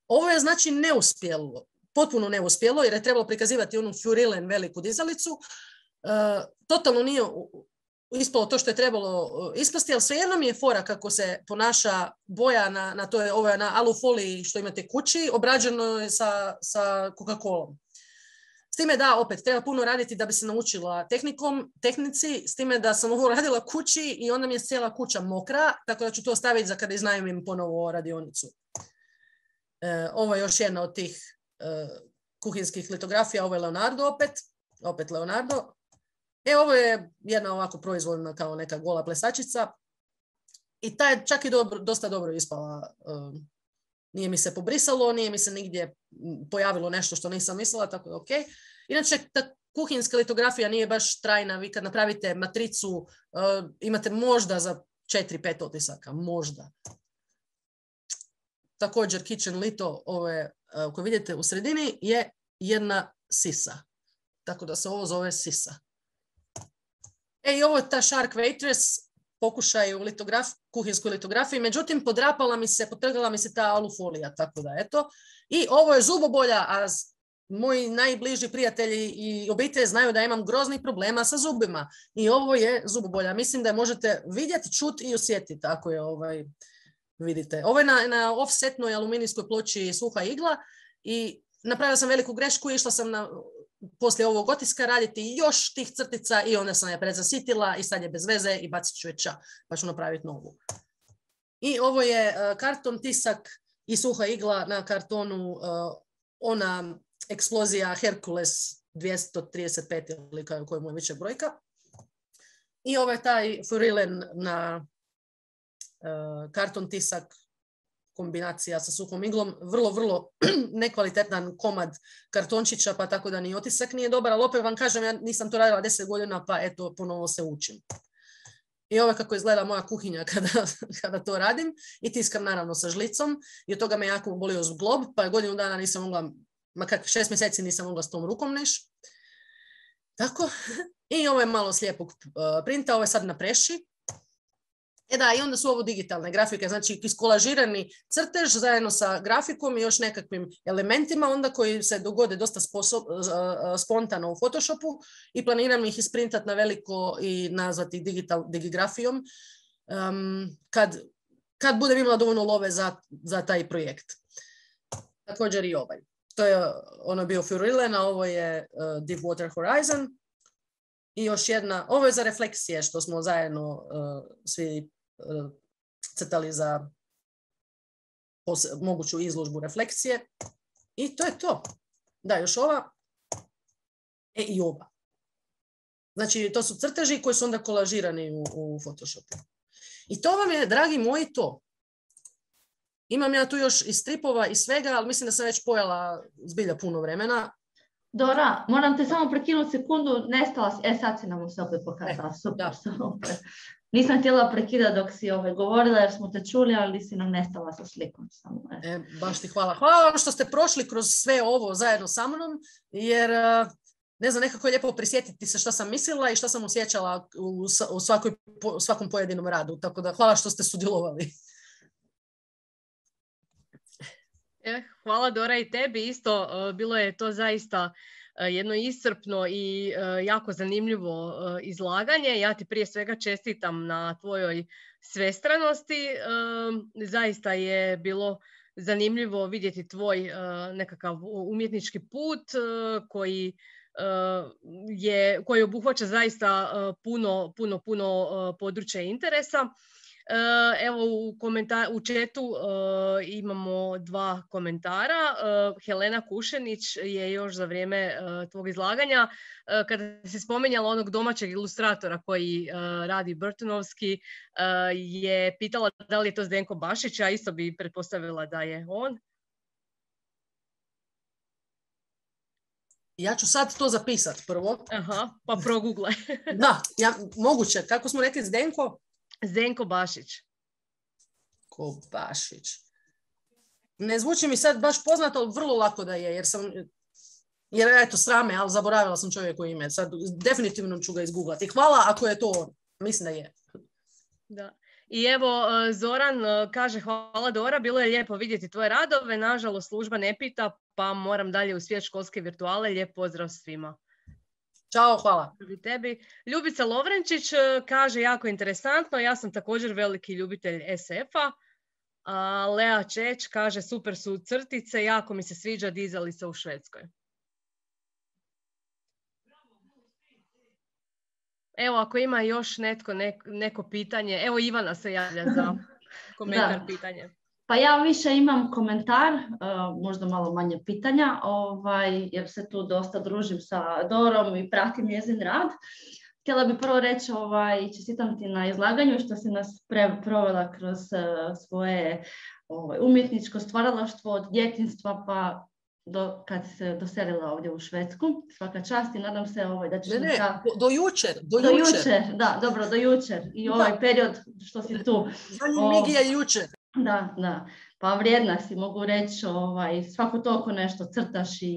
B: Ovo je znači neuspjelo, potpuno neuspjelo, jer je trebalo prikazivati onu Furilen veliku dizalicu. Uh, totalno nije ispalo to što je trebalo ispasti, ali svejedno mi je fora kako se ponaša boja na, na, to je, ovo je na alufoliji što imate kući, obrađeno je sa, sa Coca-Colom. S time da, opet, treba puno raditi da bi se naučila tehnikom, tehnici, s time da sam ovo radila kući i onda mi je cijela kuća mokra, tako da ću to staviti za kada iznajmim ponovo radionicu. E, ovo je još jedna od tih e, kuhinskih litografija, ovo je Leonardo opet, opet Leonardo. E, ovo je jedna ovako proizvoljna kao neka gola plesačica i ta je čak i dobro, dosta dobro ispala. Um, nije mi se pobrisalo, nije mi se nigdje pojavilo nešto što nisam mislila, tako da ok. Inače, ta kuhinska litografija nije baš trajna. Vi kad napravite matricu, uh, imate možda za četiri pet otisaka, možda. Također, Kitchen Lito, ove, uh, koje vidite u sredini, je jedna sisa. Tako da se ovo zove sisa. E, i ovo je ta Shark Waitress, pokušaj u litograf, kuhinskoj litografiji, međutim podrapala mi se, potrgala mi se ta alufolija, tako da eto. I ovo je zubobolja, a moji najbliži prijatelji i obitelj znaju da imam groznih problema sa zubima. I ovo je zubobolja. Mislim da je možete vidjeti, čuti i osjetiti ako je ovaj, vidite. Ovo je na, na offsetnoj aluminijskoj ploči suha igla i napravila sam veliku grešku, išla sam na... poslije ovog otiska raditi još tih crtica i onda sam je predzasitila i sad je bez veze i bacit ću je ča, pa ću napraviti novu. I ovo je uh, karton, tisak i suha igla na kartonu, uh, ona eksplozija Hercules dvjesto trideset pet ili koja mu je više brojka. I ovo je taj Furilen na uh, karton, tisak, kombinacija sa suhom iglom, vrlo, vrlo nekvalitetan komad kartončića, pa tako da ni otisak nije dobar, ali opet vam kažem, ja nisam to radila deset godina, pa eto, ponovo se učim. I ovo kako izgleda moja kuhinja kada, kada to radim i tiskam naravno sa žlicom i od toga me jako bolio zglob, pa godinu dana nisam mogla, ma kak, šest mjeseci nisam mogla s tom rukom neš. Tako. I ovo je malo slijepog printa, ovo je sad na preši. E da, i onda su ovo digitalne grafike, znači iskolažirani crtež zajedno sa grafikom i još nekakvim elementima, onda koji se dogode dosta sposob, spontano u Photoshopu i planiram ih isprintati na veliko i nazvati digital, digigrafijom um, kad, kad budem imala dovoljno love za, za taj projekt. Također i ovaj. To je ono bio Furillen, a ovo je uh, Deep Water Horizon. I još jedna, ovo je za refleksije što smo zajedno uh, svi uh, crtali za pos- moguću izložbu refleksije. I to je to. Da, još ova. E i ova. Znači, to su crteži koji su onda kolažirani u, u Photoshopu. I to vam je, dragi moji, to. Imam ja tu još i stripova i svega, ali mislim da sam već pojela zbilja puno vremena.
C: Dora, moram te samo prekinuti sekundu, nestala si, e sad si nam se opet pokazala, e, super, da. super. Nisam htjela prekidati dok si ove govorila jer smo te čuli, ali si nam nestala sa slikom. Samo, e.
B: E, baš ti hvala. Hvala vam što ste prošli kroz sve ovo zajedno sa mnom, jer ne znam, nekako je lijepo prisjetiti se što sam mislila i što sam osjećala u, u, svakoj, u svakom pojedinom radu. Tako da hvala što ste sudjelovali.
A: E, hvala Dora i tebi isto. Bilo je to zaista jedno iscrpno i jako zanimljivo izlaganje. Ja ti prije svega čestitam na tvojoj svestranosti. Zaista je bilo zanimljivo vidjeti tvoj nekakav umjetnički put koji je, koji obuhvaća zaista puno, puno, puno područja interesa. Evo u, komentar, u chatu uh, imamo dva komentara. Uh, Helena Kušenić je još za vrijeme uh, tvog izlaganja, uh, kada si spomenjala onog domaćeg ilustratora koji uh, radi Burtonovski, uh, je pitala da li je to Zdenko Bašić, a isto bi pretpostavila da je on.
B: Ja ću sad to zapisati prvo.
A: Aha, pa proguglaj.
B: Da, ja, moguće. Kako smo rekli, Zdenko?
A: Zdenko Bašić.
B: Ko Bašić. Ne zvuči mi sad baš poznato, ali vrlo lako da je, jer sam, jer eto, srame, ali zaboravila sam čovjeku ime. Sad definitivno ću ga izgooglati. Hvala ako je to on. Mislim da je.
A: Da. I evo, Zoran kaže, hvala Dora, bilo je lijepo vidjeti tvoje radove. Nažalost, služba ne pita, pa moram dalje u svijet školske virtuale. Lijep pozdrav svima.
B: Ćao, hvala.
A: Tebi. Ljubica Lovrenčić kaže, jako interesantno, ja sam također veliki ljubitelj es efa. A Lea Čeć kaže, super su crtice, jako mi se sviđa dizalica u Švedskoj. Evo, ako ima još netko, neko, neko pitanje, evo Ivana se javlja za komentar, pitanje.
C: Pa ja više imam komentar, uh, možda malo manje pitanja, ovaj, jer se tu dosta družim sa Dorom i pratim njezin rad. Htjela bih prvo reći, ovaj, čestitam ti na izlaganju što si nas pre, provela kroz uh, svoje ovaj, umjetničko stvaralaštvo od djetinjstva pa do, kad si se doselila ovdje u Švedsku. Svaka čast i nadam se ovaj, da ćeš...
B: Ne, ne, ta... do, do jučer. Do,
C: do jučer. jučer. Da, dobro, do jučer. I ovaj da. period što si tu.
B: Zadnji mig je jučer.
C: Da, da. Pa vrijedna si, mogu reći, ovaj, svako toliko nešto crtaš i,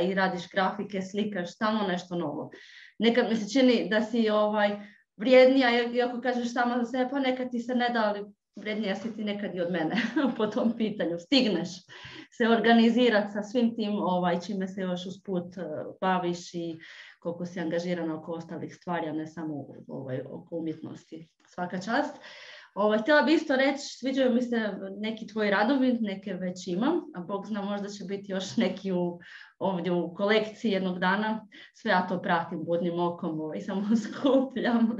C: i radiš grafike, slikaš, stalno nešto novo. Nekad mi se čini da si ovaj, vrijednija, iako kažeš sama za sebe, pa nekad ti se ne da, ali vrijednija si ti nekad i od mene po tom pitanju. Stigneš se organizirati sa svim tim ovaj, čime se još usput baviš i koliko si angažirana oko ostalih stvari, a ne samo ovaj, oko umjetnosti. Svaka čast. Ovo, htjela bi isto reći, sviđaju mi se neki tvoji radovi, neke već imam, a Bog zna možda će biti još neki u, ovdje u kolekciji jednog dana. Sve ja to pratim budnim okom i samo skupljam.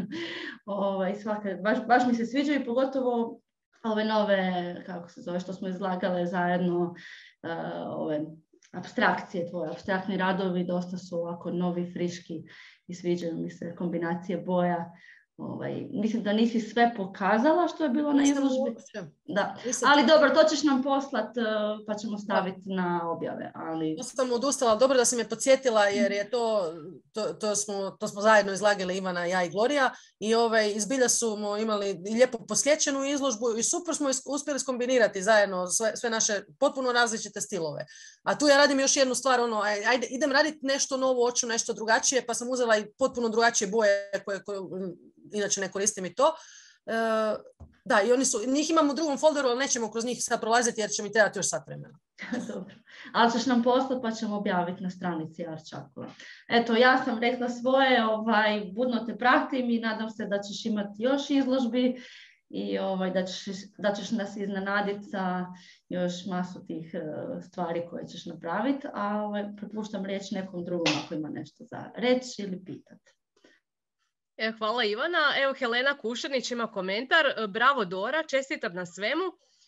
C: Ovo, svaka, baš, baš mi se sviđaju, pogotovo ove nove, kako se zove, što smo izlagale zajedno, uh, ove apstrakcije, tvoje apstraktni radovi, dosta su ovako novi, friški i sviđaju mi se kombinacije boja. Ovaj, mislim da nisi sve pokazala što je bilo na izložbi. Da.
B: Nisam
C: ali
B: ti...
C: dobro, to ćeš nam poslat pa ćemo staviti da. na objave. Ali...
B: To sam odustala, dobro da si me podsjetila jer je to, to, to, smo, to smo zajedno izlagali Ivana, ja i Gloria i ovaj, izbilja smo imali lijepo posjećenu izložbu i super smo uspjeli skombinirati zajedno sve, sve naše potpuno različite stilove. A tu ja radim još jednu stvar, ono, ajde, idem raditi nešto novo, hoću nešto drugačije, pa sam uzela i potpuno drugačije boje koje, koje inače ne koristim i to. E, da, i oni su, njih imamo u drugom folderu, ali nećemo kroz njih sad prolaziti jer će mi trebati još sat vremena.
C: Dobro, ali ćeš nam poslati pa ćemo objaviti na stranici Arčakova. Eto, ja sam rekla svoje, ovaj, budno te pratim i nadam se da ćeš imati još izložbi i ovaj, da, ćeš, da ćeš nas iznenaditi sa još masu tih uh, stvari koje ćeš napraviti, a ovaj, prepuštam riječ nekom drugom ako ima nešto za reći ili pitati.
A: E, hvala Ivana. Evo Helena Kušanić ima komentar. Bravo Dora, čestitam na svemu.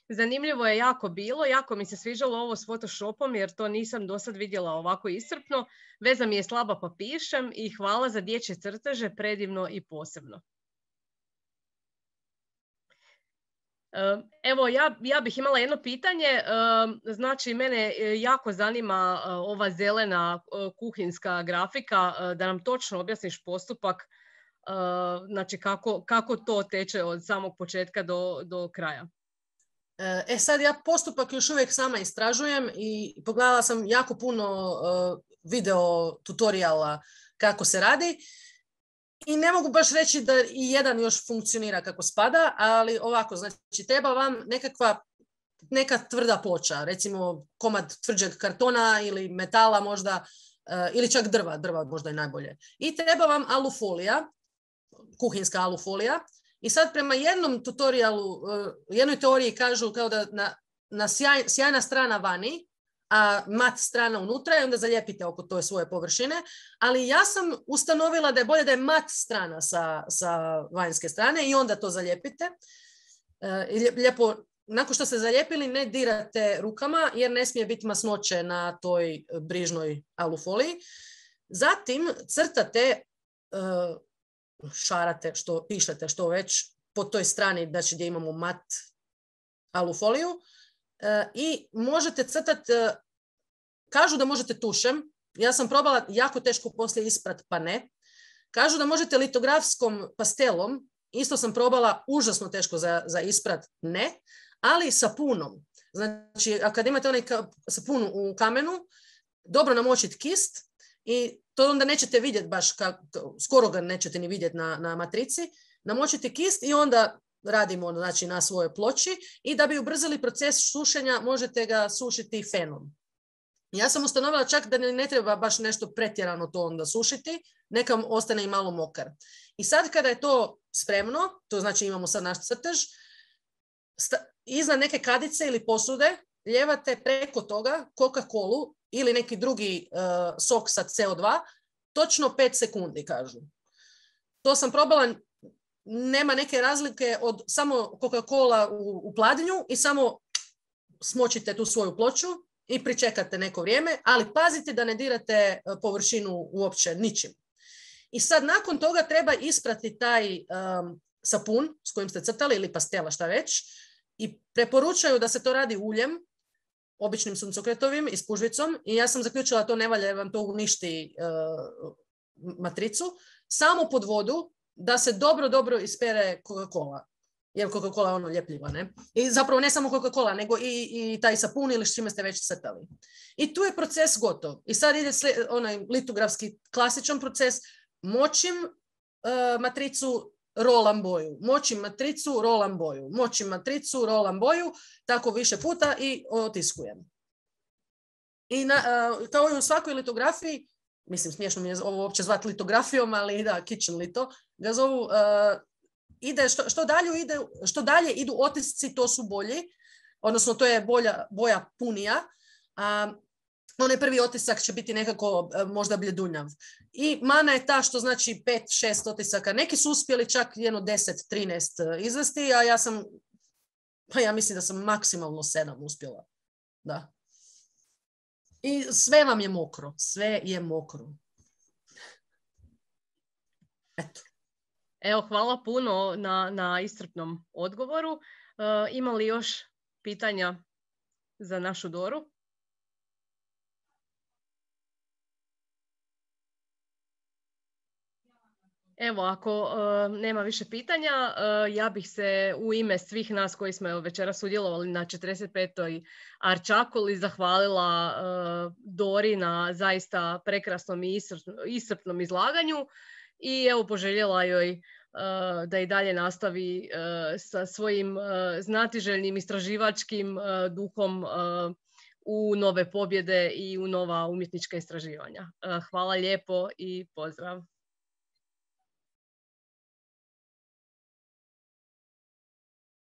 A: Zanimljivo je jako bilo, jako mi se sviđalo ovo s Photoshopom jer to nisam do sad vidjela ovako iscrpno. Veza mi je slaba pa pišem i hvala za dječje crteže, predivno i posebno. Evo, ja, ja bih imala jedno pitanje. Znači, mene jako zanima ova zelena kuhinska grafika, da nam točno objasniš postupak, znači kako, kako to teče od samog početka do, do kraja.
B: E sad ja postupak još uvijek sama istražujem i pogledala sam jako puno uh, video tutoriala kako se radi i ne mogu baš reći da i jedan još funkcionira kako spada, ali ovako, znači treba vam nekakva neka tvrda ploča, recimo komad tvrđeg kartona ili metala možda, uh, ili čak drva, drva možda je najbolje. I treba vam alufolija, kuhinska alufolija. I sad prema jednom tutorialu, jednoj teoriji kažu kao da na, na sjaj, sjajna strana vani, a mat strana unutra i onda zalijepite oko toje svoje površine, ali ja sam ustanovila da je bolje da je mat strana sa, sa vanjske strane i onda to zalijepite. Lijepo, nakon što ste zalijepili ne dirate rukama jer ne smije biti masnoće na toj brižnoj alufoliji. Zatim crtate šarate, što pišete, što već po toj strani, znači gdje imamo mat alufoliju e, i možete crtati, e, kažu da možete tušem, ja sam probala jako teško poslije isprat, pa ne. Kažu da možete litografskom pastelom, isto sam probala užasno teško za, za isprat, ne, ali sapunom. Znači, a kad imate onaj sapun u kamenu, dobro namočiti kist i to onda nećete vidjeti baš, kako, skoro ga nećete ni vidjeti na, na matrici. Namočite kist i onda radimo znači, na svojoj ploči i da bi ubrzali proces sušenja možete ga sušiti fenom. Ja sam ustanovila čak da ne, ne treba baš nešto pretjerano to onda sušiti, neka ostane i malo mokar. I sad kada je to spremno, to znači imamo sad naš crtež, sta, iznad neke kadice ili posude ljevate preko toga Coca-Colu ili neki drugi uh, sok sa C O dva, točno pet sekundi, kažu. To sam probala, nema neke razlike od samo Coca-Cola u, u pladnju i samo smočite tu svoju ploču i pričekate neko vrijeme, ali pazite da ne dirate površinu uopće ničim. I sad nakon toga treba isprati taj um, sapun s kojim ste crtali ili pastela, šta već, i preporučaju da se to radi uljem, običnim suncokretovim i spužvicom i ja sam zaključila da to ne valja jer vam to uništi uh, matricu, samo pod vodu da se dobro, dobro ispere Coca-Cola. Jer Coca-Cola je ono ljepljiva, ne? I zapravo ne samo Coca-Cola, nego i, i taj sapun ili s čime ste već crtali. I tu je proces gotov. I sad ide sli, onaj litografski klasičan proces. Močim uh, matricu, rolam boju. Močim matricu, rolam boju. Močim matricu, rolam boju. Tako više puta i otiskujem. I na, uh, kao i u svakoj litografiji, mislim, smiješno mi je ovo uopće zvati litografijom, ali da, kitchen lito, ga zovu, uh, ide, što, što, dalje ide, što dalje idu otisci, to su bolji, odnosno to je bolja, boja punija, a onaj prvi otisak će biti nekako uh, možda bljedunjav. I mana je ta što znači pet šest otisaka, neki su uspjeli čak jedno deset trinaest izvesti, a ja sam, pa ja mislim da sam maksimalno sedam uspjela, da. I sve vam je mokro. Sve je mokro. Eto.
A: Evo, hvala puno na, na iscrpnom odgovoru. Uh, ima li još pitanja za našu Doru? Evo, ako uh, nema više pitanja, uh, ja bih se u ime svih nas koji smo večeras sudjelovali na četrdeset petoj Arčakuli zahvalila uh, Dori na zaista prekrasnom i iscrpnom izlaganju i evo poželjela joj uh, da i dalje nastavi uh, sa svojim uh, znatiželjnim istraživačkim uh, duhom uh, u nove pobjede i u nova umjetnička istraživanja. Uh, hvala lijepo i pozdrav!